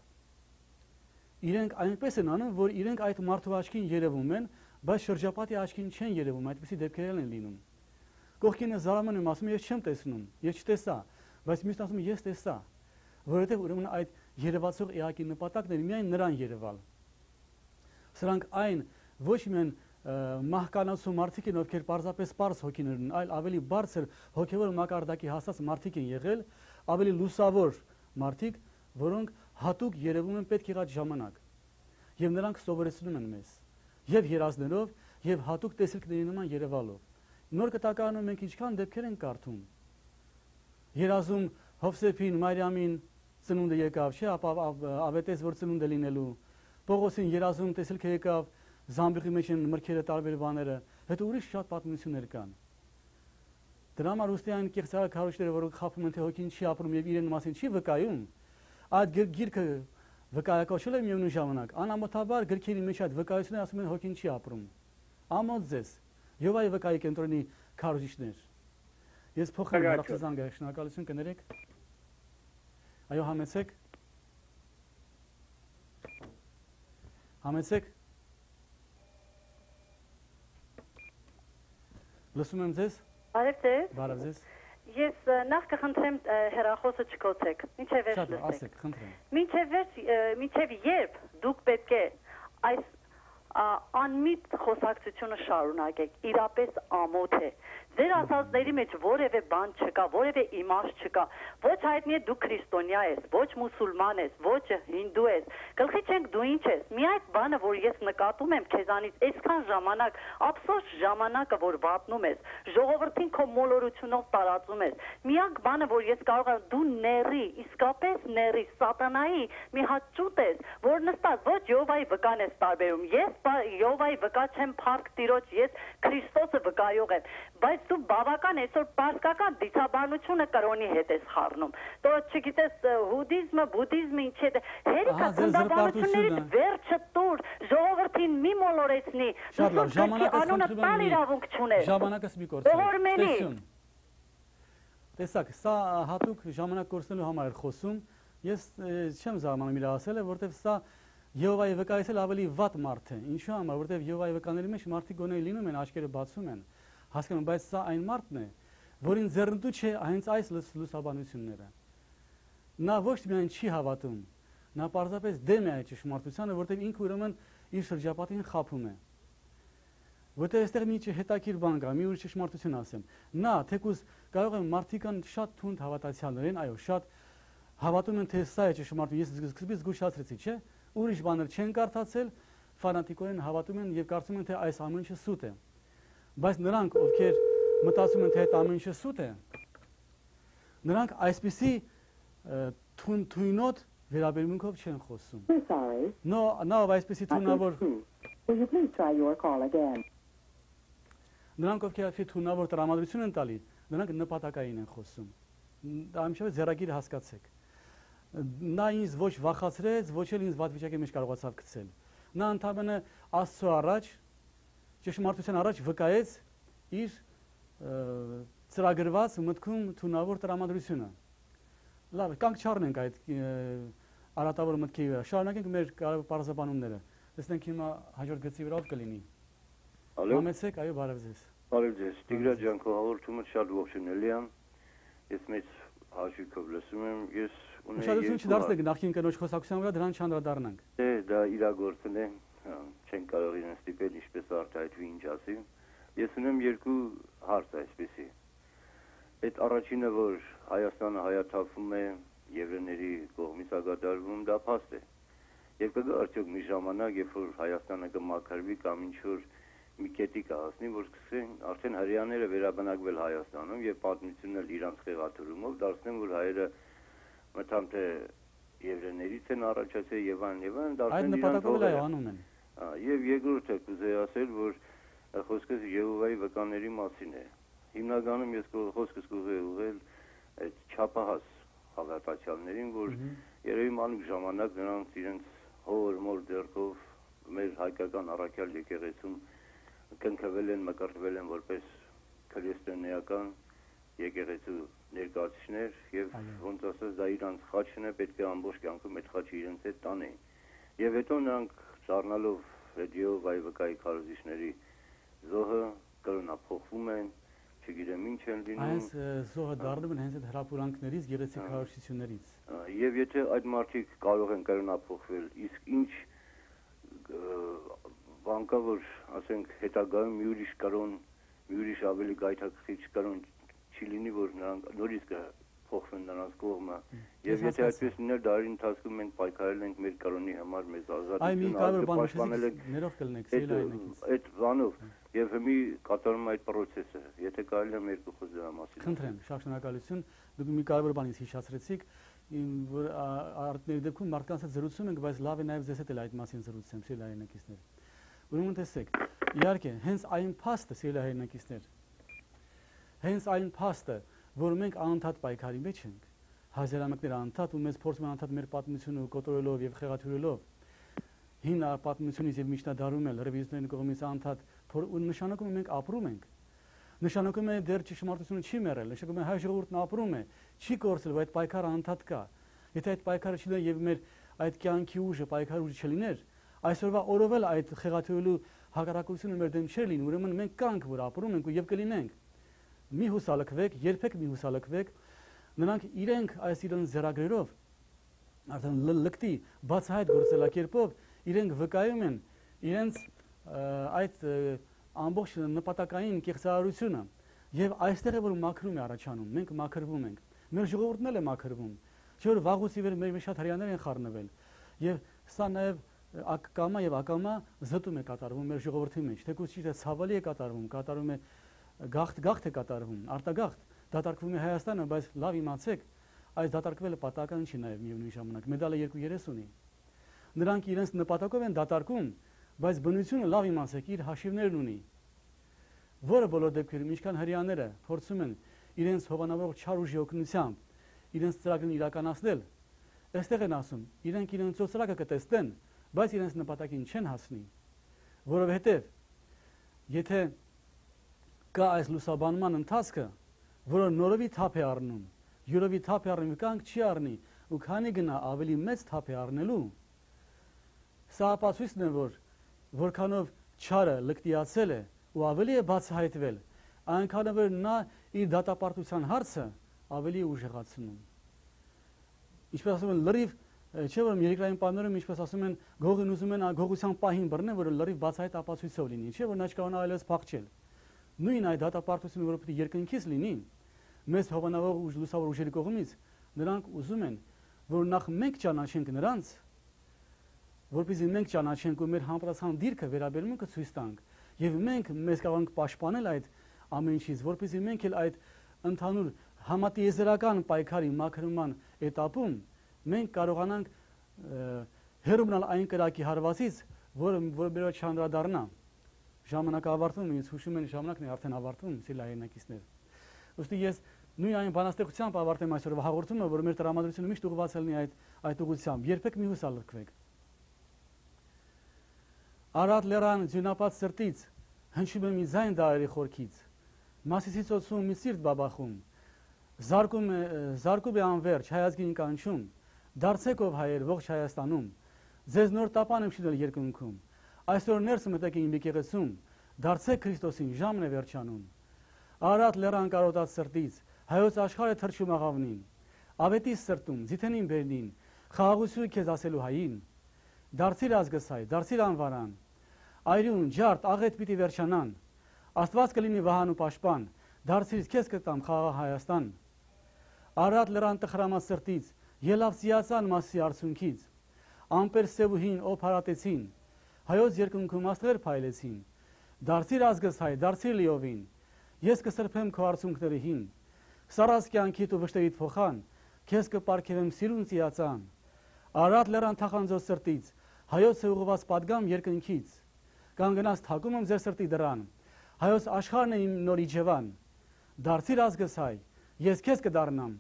Իրենք այնպես են անում, որ իրենք այդ մարդու աչքին երևում են, բայց շրջապատի աչքին չեն երևում, այդպիսի դեպքեր են լինում։ Կողքինը զարմանում եմ, ասում ես չեմ տեսնում, ես չտեսա, բայց մյուսն ասում ես տեսա, որովհետև ուրեմն այդ երևացող էակի նպատակն է միայն նրան երևալ։ Սրանք այն ոչ միայն մահկանացու մարդիկ են, ովքեր պարզապես պարզ հոգիներ ունեն, այլ ավելի բարձր հոգևոր մակարդակի հասած մարդիկ են եղել, ավելի լուսավոր մարդիկ, որոնք հատուկ երևում են պետք եղած ժամանակ։ Եվ նրանք սովորեցնում են մեզ, եւ երազներով, եւ հատուկ տեսիլքների նման երևալով։ Նոր կտակարանում մենք ինչքան դեպքեր են կարդում։ Երազում Հովսեփին, Մարիամին ծնունդը եկավ, չէ, ապա ավետեց, որ ծնունդ է լինելու։ Պողոսին երազում տեսիլքը եկավ, զամբյուղի մեջ են մրգերը տարբեր բաները, հետո ուրիշ շատ պատմություններ կան։ Դրա համար ուստի այն կեղծարար քարոջները, որոնք խաբում են, թե հոգին չի ապրում եւ իրեն մասին չի վկայում, այդ գիրքը վկայակոչել է միևնույն ժամանակ, անամոթաբար գրքերի մեջ այդ վկայությունները ասում են հոգին չի ապրում։ Ամոթ ձեզ, Եհովայի վկայի կենտրոնի քարոջիչներ։ Ես փոխեմ հարցազանգը, շնորհակալություն կներեք։ Այո, համեցեք։ Համեցեք։ Լսում եմ ձեզ։ Բարև ձեզ։ Բարև ձեզ։ Ես նախ կխնդրեմ հեռախոսը չկոչեք, մինչև վերջ լսեք։ լսեք։ Ասեք, խնդրեմ։ Մինչև երբ դուք պետք է այս անմիտ խոսակցությունը շարունակեք, իրապես ամոթ է։ Ձեր ասածների մեջ որևէ բան չկա, որևէ իմաստ չկա։ Ոչ հայտնի է դու քրիստոնյա ես, ոչ մուսուլման ես, ոչ հինդու ես։ Գլխի չենք դու ինչ ես։ Մի այդ բանը, որ ես նկատում եմ քեզանից այսքան ժամանակ, ափսոս ժամանակը, որ վատնում ես, ժողովրդին քո մոլորությունով տարածում ես։ Միակ բանը, որ ես կարող եմ, դու ների, իսկապես ների, սատանայի մի հատ ճուտ ես, որ նստած ոչ Եհովայի վկան ես տարբերում։ Ես Եհովայի վկա չեմ, փառք Տիրոջ, ես Քրիստոսը վկայող եմ, բայց դու բավական այսօր պարսկական դիցաբանությունը կրոնի հետ ես խառնում։ Դու չգիտես հուդիզմը, բուդիզմը ինչ է, հերիքա ծննդաբանություններից վերջը տուր, ժողովրդին մի մոլորեցնի, անունը տալ իրավունք չուներ։ Ժամանակս մի կորցրեք։ Տեսակ, սա հատուկ ժամանակ կորցնելու համար էր խոսում։ Ես չեմ զարմանում իր ասելը, որովհետև սա Եհովայի վկայից էլ ավելի վատ մարդ է։ Ինչու համար, որովհետև Եհովայի վկաների մեջ մարդիկ գոնե լինում են, աչքերը բացում են, հասկանում, բայց սա այն մարդն է, որին ձեռնտու չէ հենց այս լուսաբանությունները։ Նա ոչ միայն չի հավատում, նա պարզապես դեմ է այդ ճշմարտությանը, որովհետև ինքը ուրեմն իր շրջապատին խաբում է։ Որտեղ այստեղ մի հետաքրքիր բան կա, մի ուրիշ ճշմարտություն ասեմ։ Նա թեկուզ կարող է մարդիկ կան շատ թունդ հավատացյալներ են, այո, շատ հավատում են, թե սա է ճշմարտություն։ Ես սկզբից զգուշացրեցի, չէ՞։ Ուրիշ բաներ չեն կարդացել, ֆանատիկորեն հավատում են եւ կարծում են, թե այս ամեն ինչը սուտ է։ Բայց նրանք, ովքեր մտածում են, թե այդ ամեն ինչը սուտ է, նրանք այսպիսի թույնոտ վերաբերմունքով չեն խոսում։ Նա այսպիսի թունավոր նրանք, ովքեր այսպիսի թունավոր տրամադրություն են տալի, նրանք նպատակային են խոսում։ Դա ամենաշատը ձեռագիր հասկացեք։ Նա ինձ ոչ վախացրեց, ոչ էլ ինձ վատ վիճակի մեջ կարողացավ գցել։ Նա ընդհանրապես Աստծո առաջ, ճշմարտության առաջ վկայեց իր ծրագրված մտքում թունավոր տրամադրությունը։ Լավ, կանք չառնենք այդ արատավոր մտքի վրա, շարունակենք մեր պարզաբանումները։ Տեսնենք հիմա հաջորդ գծի վրա ով կլինի։ Համեցեք, այո, բարև ձեզ։ Բարև ձեզ, Տիգրան ջան, քո հաղորդումը շատ ողջունելի է։ Ես մեծ հաշիվով լսում եմ, ես ունեի Ուշադրություն չդարձնեք նախին կնոջ խոսակցության վրա, դրան չանդրադառնանք։ Դա իրագործել է, չեն կարող իրեն ստիպել ինչպես արտահայտվի ինչ ասի։ Ես ունեմ երկու հարց այսպեսի։ Այդ առաջինը, որ Հայաստանը հայաթափվում է, եվրեների կողմից ագադարվում, դա փաստ է։ Եվ կգա արդյոք մի ժամանակ, երբ որ Հայաստանը կմաքրվի կամ ինչ-որ մի կետի կհասնի, որ սկսեն արդեն հрьяաները վերաբնակվել Հայաստանում եւ պատմությունն էլ իրանց խեղաթյուրումով դարձնեն, որ հայերը մտամ թե եվրեներից են առաջացել եւ այլն, Այդ նպատակով էլ անում են։ Եվ երկրորդը կուզեի ասել, որ խոսքս Եհովայի վկաների մասին է։ Հիմնականում ես խոսքս կուզեի ուղղել այդ չափահաս հավատացյալներին, որ երևի մանուկ ժամանակ նրանց իրենց հոր դերքով մեր հայկական առաքյալ եկեղեցում կնքվել են, մկրտվել են որպես քրիստոնեական եկեղեցու ներկայացուցիչներ եւ ոնց ասած դա իրանց խաչն է, պետք է ամբողջ կյանքում այդ խաչը իրենց հետ տանեն։ Եվ հետո նրանք դառնալով Եհովայի վկայի քարոզիչների զոհը կրոնափոխվում են, չգիտեմ ինչ են լինում։ Այս զոհը դառնում են հենց այդ հրապուրանքներից, գեղեցիկ քարոզիչներից։ Եվ եթե այդ մարդիկ կարող են կրոնափոխվել, իսկ ինչ բան կա, որ ասենք հետագայում մի ուրիշ կրոն, մի ուրիշ ավելի գայթակղիչ կրոն չի լինի, որ նրանք նորից կփոխվեն նրանց կողմը։ Եվ եթե այդպես լիներ, դարերի ընթացքում մենք պայքարել ենք մեր կրոնի համար, մեզ ազատությունը պաշտպանել ենք։ Ներող կլնեք, սիրելիներս։ Այդ բանով եւ մի կատարում այդ process-ը, եթե կարելի է երկու խոսք դրա մասին։ Խնդրեմ, շատ շնորհակալություն։ Դուք մի կարևոր բան ինձ հիշեցրեցիք, որ արտների դեպքում մարդկանց հետ զրուցում ենք, բայց լավ է նաեւ ձեզ հետ էլ այդ մասին զրուցեմ, սիրելիներս։ Ուրեմն տեսեք, իհարկե, հենց այն փաստը, սիրելիներս, հենց այն փաստը, որ մենք անընդհատ պայքարի մեջ ենք, հազարամյակներ անընդհատ ու մեզ փորձում են անընդհատ մեր պատմությունը կոտորելով եւ խեղաթյուրելով, հին պատմությունից եւ միջնադարում էլ ռևիզիոնների կողմից անընդհատ նշանակում է մենք ապրում ենք։ Նշանակում է դեռ ճշմարտությունը չի մեռել, նշանակում է հայ ժողովուրդն ապրում է, չի կորցրել, բայց պայքարը անընդհատ կա։ Եթե այդ պայքարը չլիներ եւ մեր այդ կյանքի ուժը, պայքարի ուժը չլիներ, այսօրվա օրով էլ այդ խեղաթյուրելու հակառակությունը մեր դեմ չէր լինի, ուրեմն մենք կանք, որ ապրում ենք ու եւ կլինենք։ Մի հուսալքվեք, երբեք մի հուսալքվեք, նրանք իրենք այս իրենց ձեռագրերով արդեն լկտի բացահայտ գործելակերպով իրենք վկայում են իրենց այդ ամբողջ նպատակային կեղծարարությունը եւ այստեղ է որ մաքրում է առաջանում, մենք մաքրվում ենք, մեր ժողովուրդն էլ է մաքրվում, չէ՞ որ վաղուց ի վեր մեր շատ հрьяաներ են խառնվել եւ սա նաեւ ակամա եւ ակամա զտում է կատարվում մեր ժողովրդի մեջ, թեկուզ չի թե ցավալի է կատարվում է գաղթ է կատարվում, արտագաղթ դատարկվում է Հայաստանը, բայց լավ իմացեք, այս դատարկվելը պատահական չի նաեւ միևնույն ժամանակ, մեդալը երկու երես ունի։ Նրանք իրենց նպատակով են դատարկում, բայց բնությունը լավ իմացեք, իր հաշիվներն ունի, որը բոլոր դեպքերում ինչքան հрьяաները փորձում են իրենց հովանավորող չար ուժի օգնությամբ իրենց ծրագրն իրականացնել, այստեղ են ասում, իրենք իրենց ծրագը կտեսնեն, բայց իրենց նպատակին չեն հասնի, որովհետև եթե կա այս լուսաբանման ընթացքը, որը նորովի թափ է առնում, յուրովի թափ է առնում, կանք չի առնի, ու քանի գնա ավելի մեծ թափ է առնելու, սա ապացույցն է, որ որքանով չարը լկտիացել է ու ավելի է բացահայտվել, այնքանով որ նա իր դատապարտության հարցը ավելի ուժեղացնում։ Ինչպես ասում են, լրիվ չէ՞ որ երկրային պայմաններում ինչպես ասում են, գողին ուզում են գողության պահին բռնեն, որ լրիվ բացահայտ ապացույցով լինի, չէ՞ որ նա չկարողանա այլևս փախչել։ Նույն այդ դատապարտությունը, որը պետք է երկնքից լինի, մեզ հովանավոր ուժ լուսավոր ուժերի կողմից, նրանք ուզում են, որ նախ մենք ճանաչենք նրանց, որպեսզի մենք ճանաչենք ու մեր համապատասխան դիրքը վերաբերմունքը ցույց տանք, եւ մենք մեզ կարող ենք պաշտպանել այդ ամեն ինչից, որպեսզի մենք էլ այդ ընդհանուր համատիեզերական պայքարի մաքրման էտապում մենք կարողանանք հեռու մնալ այն կրակի հարվածից, որը մեր վրա չանդրադառնա։ Ժամանակը ավարտվում, ինձ հուշում են ժամանակն է արդեն ավարտվում, սիրելիներ։ Ուստի ես նույն այն բանաստեղծությամբ ավարտեմ այսօրվա հաղորդումը, որ մեր տրամադրությունը միշտ ուղղված լինի այդ ուղղությամբ։ Երբեք մի հուսալքվեք։ Արատ լեռան ձյունապատ սրտից հնչում է մի ձայն դարերի խորքից, Մասիսի ծոցում մի սիրտ բաբախում, զարկում է անվերջ հայազգին կանչում, դարձեք ով հայեր ողջ Հայաստանում, ձեզ նոր տապան եմ շինել երկնքում, այսօր ներս մտեք իմ եկեղեցում, դարձեք Քրիստոսին ժամն է վերջանում, Արատ լեռան կարոտած սրտից, հայոց աշխարհը թրջում աղավնին, Ավետի սրտում, ձիթենին բերնին, խաղաղություն քեզ ասելու հային, դարձիր ազգս հայ, դարձիր անվարան, այրուն, ջարդ, աղետ պիտի վերջանան, Աստված կլինի վահան ու պաշտպան, դարձիր քեզ կտամ խաղաղ Հայաստան, Արարատ լրան տխրամած սրտից, ելավ ծիածան մասի արցունքից, ամպեր սև ու հին օդ հարատեցին, հայոց երկնքում աստղեր փայլեցին, դարձիր ազգս հայ, դարձիր լիովին, ես կսրբեմ քո արցունքների հին, սառած կյանքիդ ու վշտերիդ փոխան, քեզ կպարգևեմ սիրուն ծիածան, Արարատ լրան թախանձոց սրտից, հայոց է ուղղված պատգամ երկնքից, կանգնած թակում եմ ձեր սրտի դռան, հայոց աշխարհն է իմ նոր իջևան, դարձիր ազգս հայ, ես քեզ կդառնամ,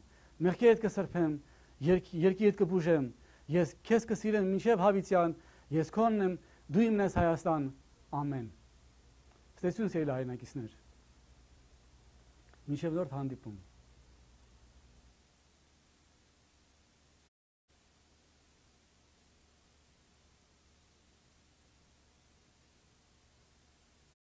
մեղքերդ կսրբեմ, երկիրդ կբուժեմ, ես քեզ կսիրեմ մինչև հավիտյան, ես քոնն եմ, դու իմն ես Հայաստան, ամեն։ Ստեսություն սիրելի հայրենակիցներ։ Մինչև նոր հանդիպում։